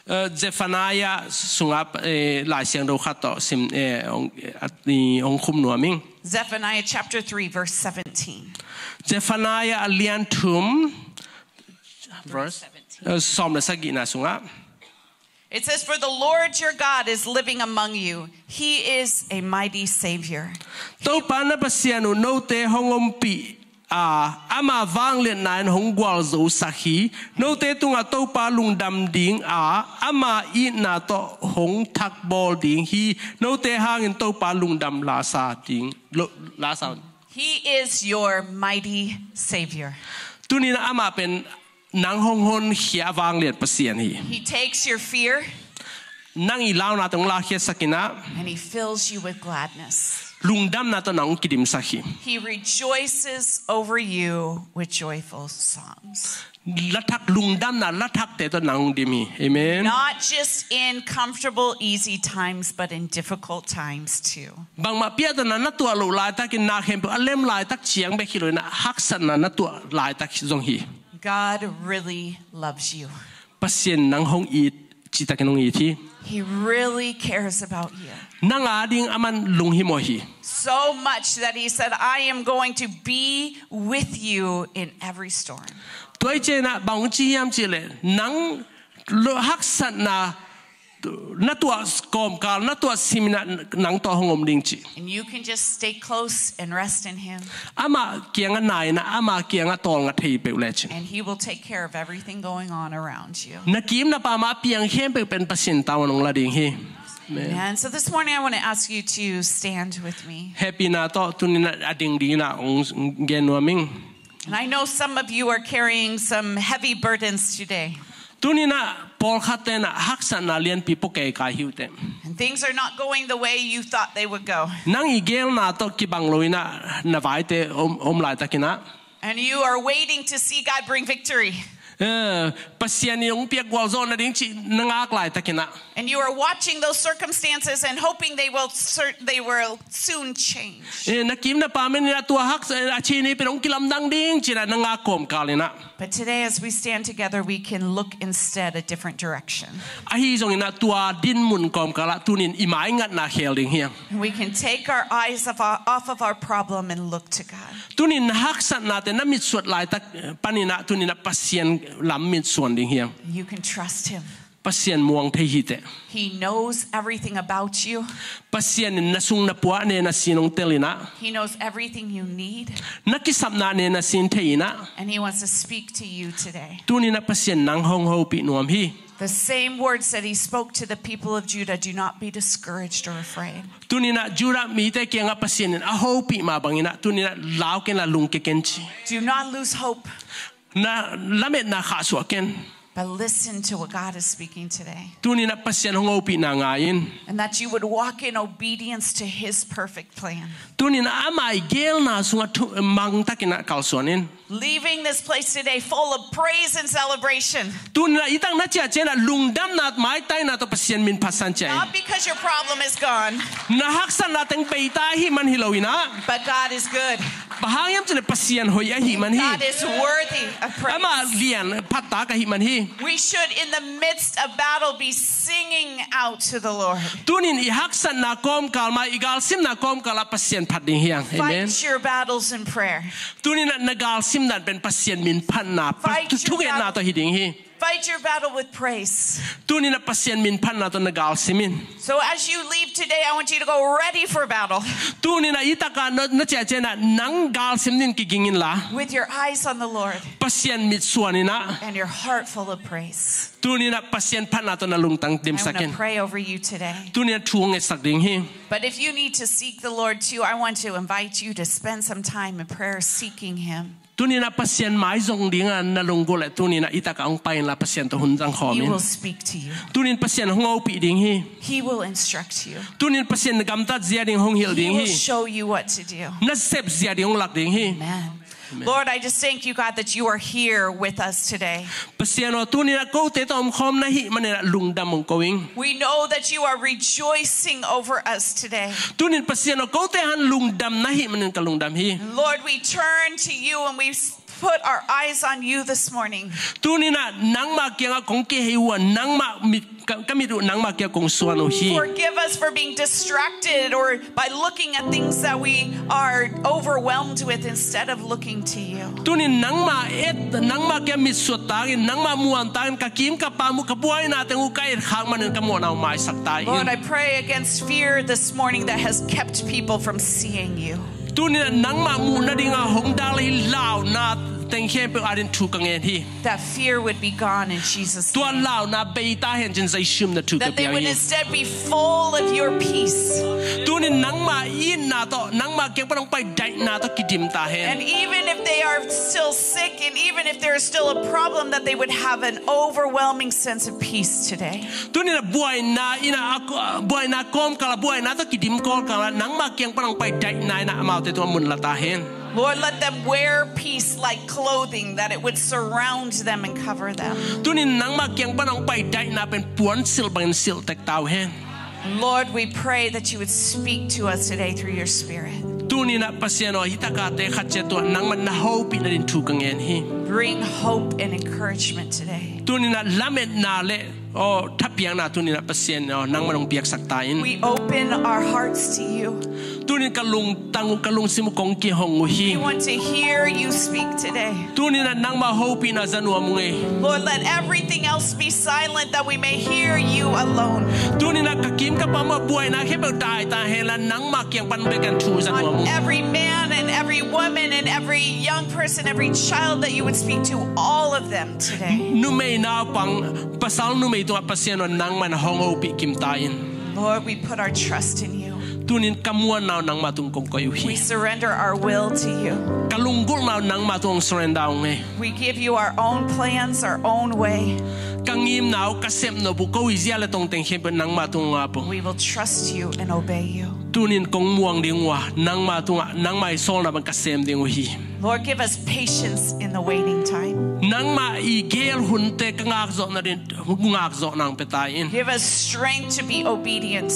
Eh, Zephaniah sungah, eh, Lai Siangtho khat tawh sim, eh, hong, eh, at, i, hong khum nuam ing. Zephaniah chapter three, verse seventeen. Zephaniah a lian thum, verse, eh, sawm le sagihna sungah. It says, "For the Lord your God is living among you. He is a mighty Savior." Topa na Pasian uh note hong ompih a, ama vangliatna in hong gualzosak hi. Note tungah Topa lungdam ding a, ama itna tawh hong thakbawl ding hi. Note hangin Topa lungdam lasa ding, lo-, lasa He is your mighty Savior. Tuni-in amah pen nang hong honkhia a vanglian Pasian hi. He takes your fear Nang i launate hong lakhiatsak in ah, and He fills you with gladness. Lungdamna tawh nang hong kidimsak hi. He rejoices over you with joyful songs. Lathak lungdamna, lathakte tawh nang hong dim hi. Amen. Not just in comfortable, easy times, but in difficult times too. Bangmah piahtana na tuah loh laitakin, na khempeuh a lem laitak ciang bek hi lo-in ah, haksatna na tuah laitak zong hi. God really loves you. Pasian nang hong it, citakin hong it hi. He really cares about you. Nang ading aman lunghimawh hi. So much that He said, "I am going to be with you in every storm." Tua hi ciangin ah bang ci hiam cih leh, nang lo haksatna na tuah kawmkal, na tuah simin ah nang tawh hong om ding ci. And you can just stay close and rest in Him. Amah kiangah nai-in ah, amah kiangah tawlnga thei peuh lecin. And He will take care of everything going on around you. Na kim na pam a piang khempeuh pen Pasian tawh hong la ding hi. Amen. And so this morning I want to ask you to stand with me. Hehpihna tawh tuni-in ah a ding dingin ah hong gen nuam ing. And I know some of you are carrying some heavy burdens today. Tuni-in ah pawlkhatte in ah haksatna lianpi pua keikai hi uh teh. And things are not going the way you thought they would go. Nang i gelna tawh kibang lo-in ah na vaite om, om laitakin ah. And you are waiting to see God bring victory. Eh, Pasian in hong piak gualzawhna ding cih na ngak laitakin ah. And you are watching those circumstances and hoping they will cer-, they will soon change. Eh, na kim na pam in ah tua hak, eh, a cin hi pen hong kilamdang ding ci-in ah na ngak kawmkal in ah. But today, as we stand together, we can look instead a different direction. Ahi zongin ah tua dinmun kawmkal ah tuni-in i maingatna khel ding hi hang. And we can take our eyes off our, off of our problem and look to God. Tuni-in na haksatnate na mitsuan laitak, eh, panin ah tuni-in ah Pasian lam mitsuan ding hi hang. You can trust Him. Pasian muang thei hi teh. He knows everything about you. Pasian in na sung na pua a ne na sin hong tel in ah. He knows everything you need. Na kisapna a ne na sin thei in ah. And He wants to speak to you today. Tuni-in ah Pasian nang hong hopih nuam hi. The same words that He spoke to the people of Judah, "Do not be discouraged or afraid." Tuni-in ah Judah mite kiangah Pasian in a hopih mah bangin ah, tuni-in ah lau ken la lungkia ken ci. Do not lose hope. Na lametna khahsuah ken. But listen to what God is speaking today. Tuni-in ah Pasian hong hopihna ngai in. And that you would walk in obedience to His perfect plan. Tuni-in ah ama i gelna sungah thu-, mangtakin ah kalsuan in. Leaving this place today full of praise and celebration. Tuni-in ah i tak na ciah ciangin ah lungdamna, maitaina tawh Pasian min phatsan ciah in. Not because your problem is gone. Na haksatna teng bei ta ahih man hi lo-in ah. But God is good. Bang hang hiam cih leh Pasian hoih ahih man hi. God is worthy of praise. Amah lian, phattak ahih man hi. We should, in the midst of battle, be singing out to the Lord. Tuni-in i haksatna kawmkal mah, i galsimna kawmkal ah Pasian phat ding hi hang. Amen. Fight your battles in prayer. Tuni-in ah na galsim dan pen Pasian min phatna, Fight your thungetna battle. Tawh hi ding hi. Fight your battle with praise. Tuni-in ah Pasian min phatna tawh na galsim in. So as you leave today, I want you to go ready for battle. Tuni-in ah i tak ah na, na ciah ciangin ah nang galsim dingin kiging inla. With your eyes on the Lord. Pasian mitsuan in ah. And your heart full of praise. Tuni-in ah Pasian phatna tawh na lungtang dimsak in. I wanna pray over you today. Tuni-in ah thu hong ngetsak ding hi. But if you need to seek the Lord too, I want to invite you to spend some time in prayer seeking Him. Tuni-in ah Pasian maizong dingin na lunggulh leh tuni-in ah i tak ah hong pai inla, Pasian tawh hun zang khawm in. He will speak to you. Tuni-in Pasian hong hopih ding hi. He will instruct you. Tuni-in Pasian na gamtat zia ding hong hilh ding hi. He will show you what to do. Na sep zia ding hong lak ding hi. Amen. Amen. Lord, I just thank you, God, that you are here with us today. Pasian aw, tuni-in ah kote tawh omkhawm na hih manin ah lungdam hong ko ing. We know that you are rejoicing over us today. Tuni-in Pasian aw, kote hang lungdam na hih manin ka lungdam hi. Lord, we turn to you and we s-, put our eyes on you this morning. Tuni-in ah nangmah kiangah kong kihei uh a, nangmah mit, ka, ka mit uh nangmah kiangah kong suan uh hi. Forgive us for being distracted or by looking at things that we are overwhelmed with instead of looking to you. Tuni-in nangmah et, nangmah kiang mitsuan tangin, nangmah muan tangin, ka kim ka pam uh, ka buaina teng uh ka et khak manin ka mawhna uh maisak ta in. Lord, I pray against fear this morning that has kept people from seeing you. Tuni-in nangmah muh nadingin hong dal hi launa teng khempeuh adingin thu ka ngen hi. That fear would be gone in Jesus' name. Tua launa bei ta hen ci-in Jesu min a thu ka pia hi. That they would instead be full of your peace. Tunin nangma itna tawh, nangma kiang pan hong pai daihna tawh kidim ta hen. And even if they are still sick, and even if there is still a problem, that they would have an overwhelming sense of peace today. Tunin a buaina in a, a, buaina kawmkal a, buaina tawh kidim kawmkal a, nangma kiang pan hong pai daihna in a amaute tungah mun la ta hen. Lord, let them wear peace like clothing, that it would surround them and cover them. Tunin nangma kiang pan hong pai daihna pen puansilh bangin silh tek ta uh hen. Lord, we pray that you would speak to us today through your Spirit. Tunin a Pasian aw, hih taka te khat ciat tungah nangman na hopih nadingin thu ka ngen hi. Bring hope and encouragement today. Tunin a lametna le, aw, thapiakna tunin a Pasian aw, nangman hong piaksak ta in. We open our hearts to you. Tunin ka lungtang uh, ka lungsim uh kong kihong uh hi. We want to hear you speak today. Tunin a nangma hopihna za nuam ung ei. Lord, let everything else be silent that we may hear you alone. Tunin a ka kim ka pam uh a buaina khempeuh dai ta hen la, nangma kiang pan bek in thu za nuam ung. On every man and every woman and every young person, every child, that you would speak to all of them today. Numei naupang, pasal numei tungah Pasian aw, nangman hong hopih kim ta in. Lord, we put our trust in you. Tunin ka muanna uh nangma tung kong koih uh hi. We surrender our will to you. Ka lunggulhna uh nangma tung hong surrender ung ei. We give you our own plans, our own way. Ka ngimna uh, ka sepnop uh, ko i zia le tongteng khempeuh nangma tung hong ap ung. We will trust you and obey you. Tunin kong muang ding uh a, nangma tungah, nangma i sawlna bang ka sem ding uh hi. Lord, give us patience in the waiting time. Nangma i geel hunte ka ngakzawh nadingin, ngakzawhna hong pia ta in. Give us strength to be obedient.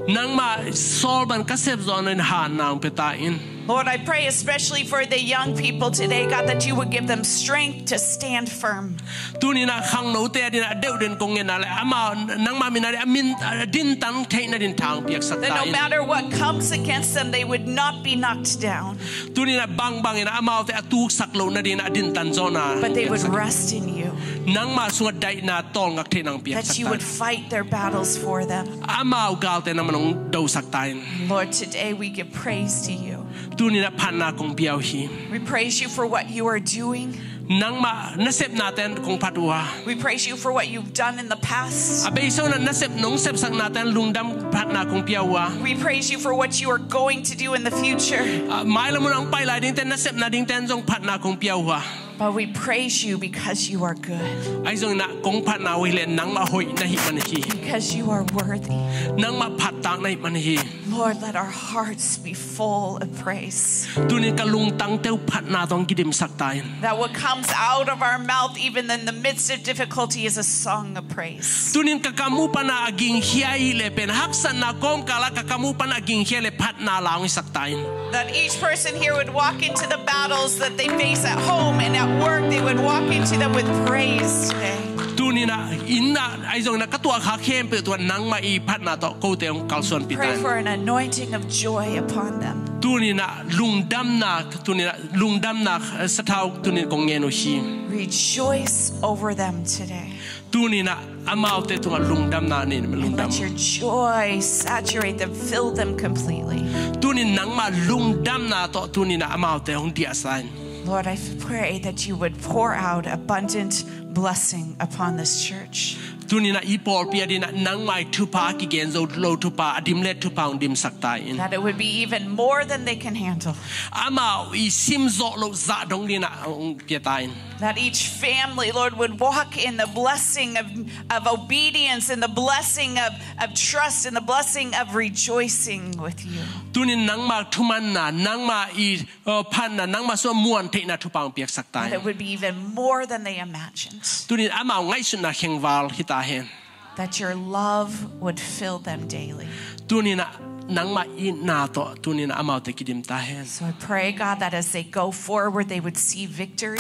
Nangma sawl bang ka sepzawh nadingin hatna hong pia ta in. Lord, I pray especially for the young people today, God, that you would give them strength to stand firm. Tunin a khangnote adingin a deuh den kong ngen a le, amau nangma min a le, a min, a dintan theih nadingin tha hong piaksak ta in. That no matter what comes against them, they would not be knocked down. Tunin a bangbang in a amaute a tuksak loh nadingin a dintan zawhna. But they would rest in you. Nangma sungah daihna tawlngak theihna hong piaksak ta in. That you would fight their battles for them. Amau galte nangman hong dosak ta in. Lord, today we give praise to you. Tunin a phatna kong pia uh hi. We praise you for what you are doing. Nangma nasepnate in kong phat uh a. We praise you for what you've done in the past. A beisa un a nasep nong sepsaknate in lungdam phatna kong pia uh a. We praise you for what you are going to do in the future. A, mailam un a hong pai lai dingte, nasepna dingte in zong phatna kong pia uh a. But we praise you because you are good. Ahi zongin a kong phatna uh hi leh nangmah hoih na hih man hi. Because you are worthy. Nangmah phattak na hih man hi. Lord, let our hearts be full of praise. Tunin ka lungtangte uh phatna tawh hong kidimsak ta in. That what comes out of our mouth, even in the midst of difficulty, is a song of praise. Tunin ka kam uh pan a gingkhia hi leh pen, haksatna kawmkal ah ka kam uh pan a gingkhia leh phatna la hong hisak ta in. That each person here would walk into the battles that they face at home and at work, they would walk into them with praise today. Tunin a inn ah, ahi zongin a ka tuahkhak khempeuh tungah nangmah i phatna tawh kote hong kalsuanpih ta in. Pray for an anointing of joy upon them. Tunin a lungdamna, tunin a lungdamna, eh, sathau tunin kong ngen uh hi. Rejoice over them today. Tunin a amaute tungah lungdamna nei in, lungdam. And let your joy saturate them, fill them completely. Tunin nangmah lungdamna tawh tunin a amaute hong diahsa in. Lord, I pray that you would pour out abundant blessing upon this church. Tunin a i pawlpi adingin a nangmah i thupha, a kigen zo lo thupha, a dimlet thupha hong dimsak ta in. That it would be even more than they can handle. Amau i simzawh loh zah dong dingin a hong pia ta in. That each family, Lord, would walk in the blessing of, of obedience and the blessing of, of trust and the blessing of rejoicing with you. Tunin nangmah thumanna, nangmah i, uh, phatna, nangmah sungah muan theihna thupha hong piaksak ta in. That it would be even more than they imagined. Tunin amau ngaihsutna khengval hi ta hen. That your love would fill them daily. Tunin a nangmah itna tawh tunin a amaute kidim ta hen. So I pray, God, that as they go forward, they would see victory.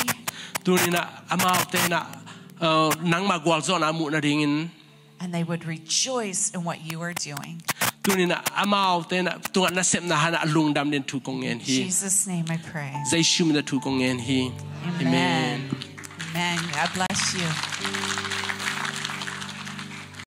Tunin a amaute in a, uh, nangmah gualzawhna a muh nadingin. And they would rejoice in what you are doing. Tunin a amaute in a tungah nasepna hangin a lungdam dingin thu kong ngen hi. In Jesus' name I pray. Jesu min a thu kong ngen hi. Amen. Amen. Amen. God bless you.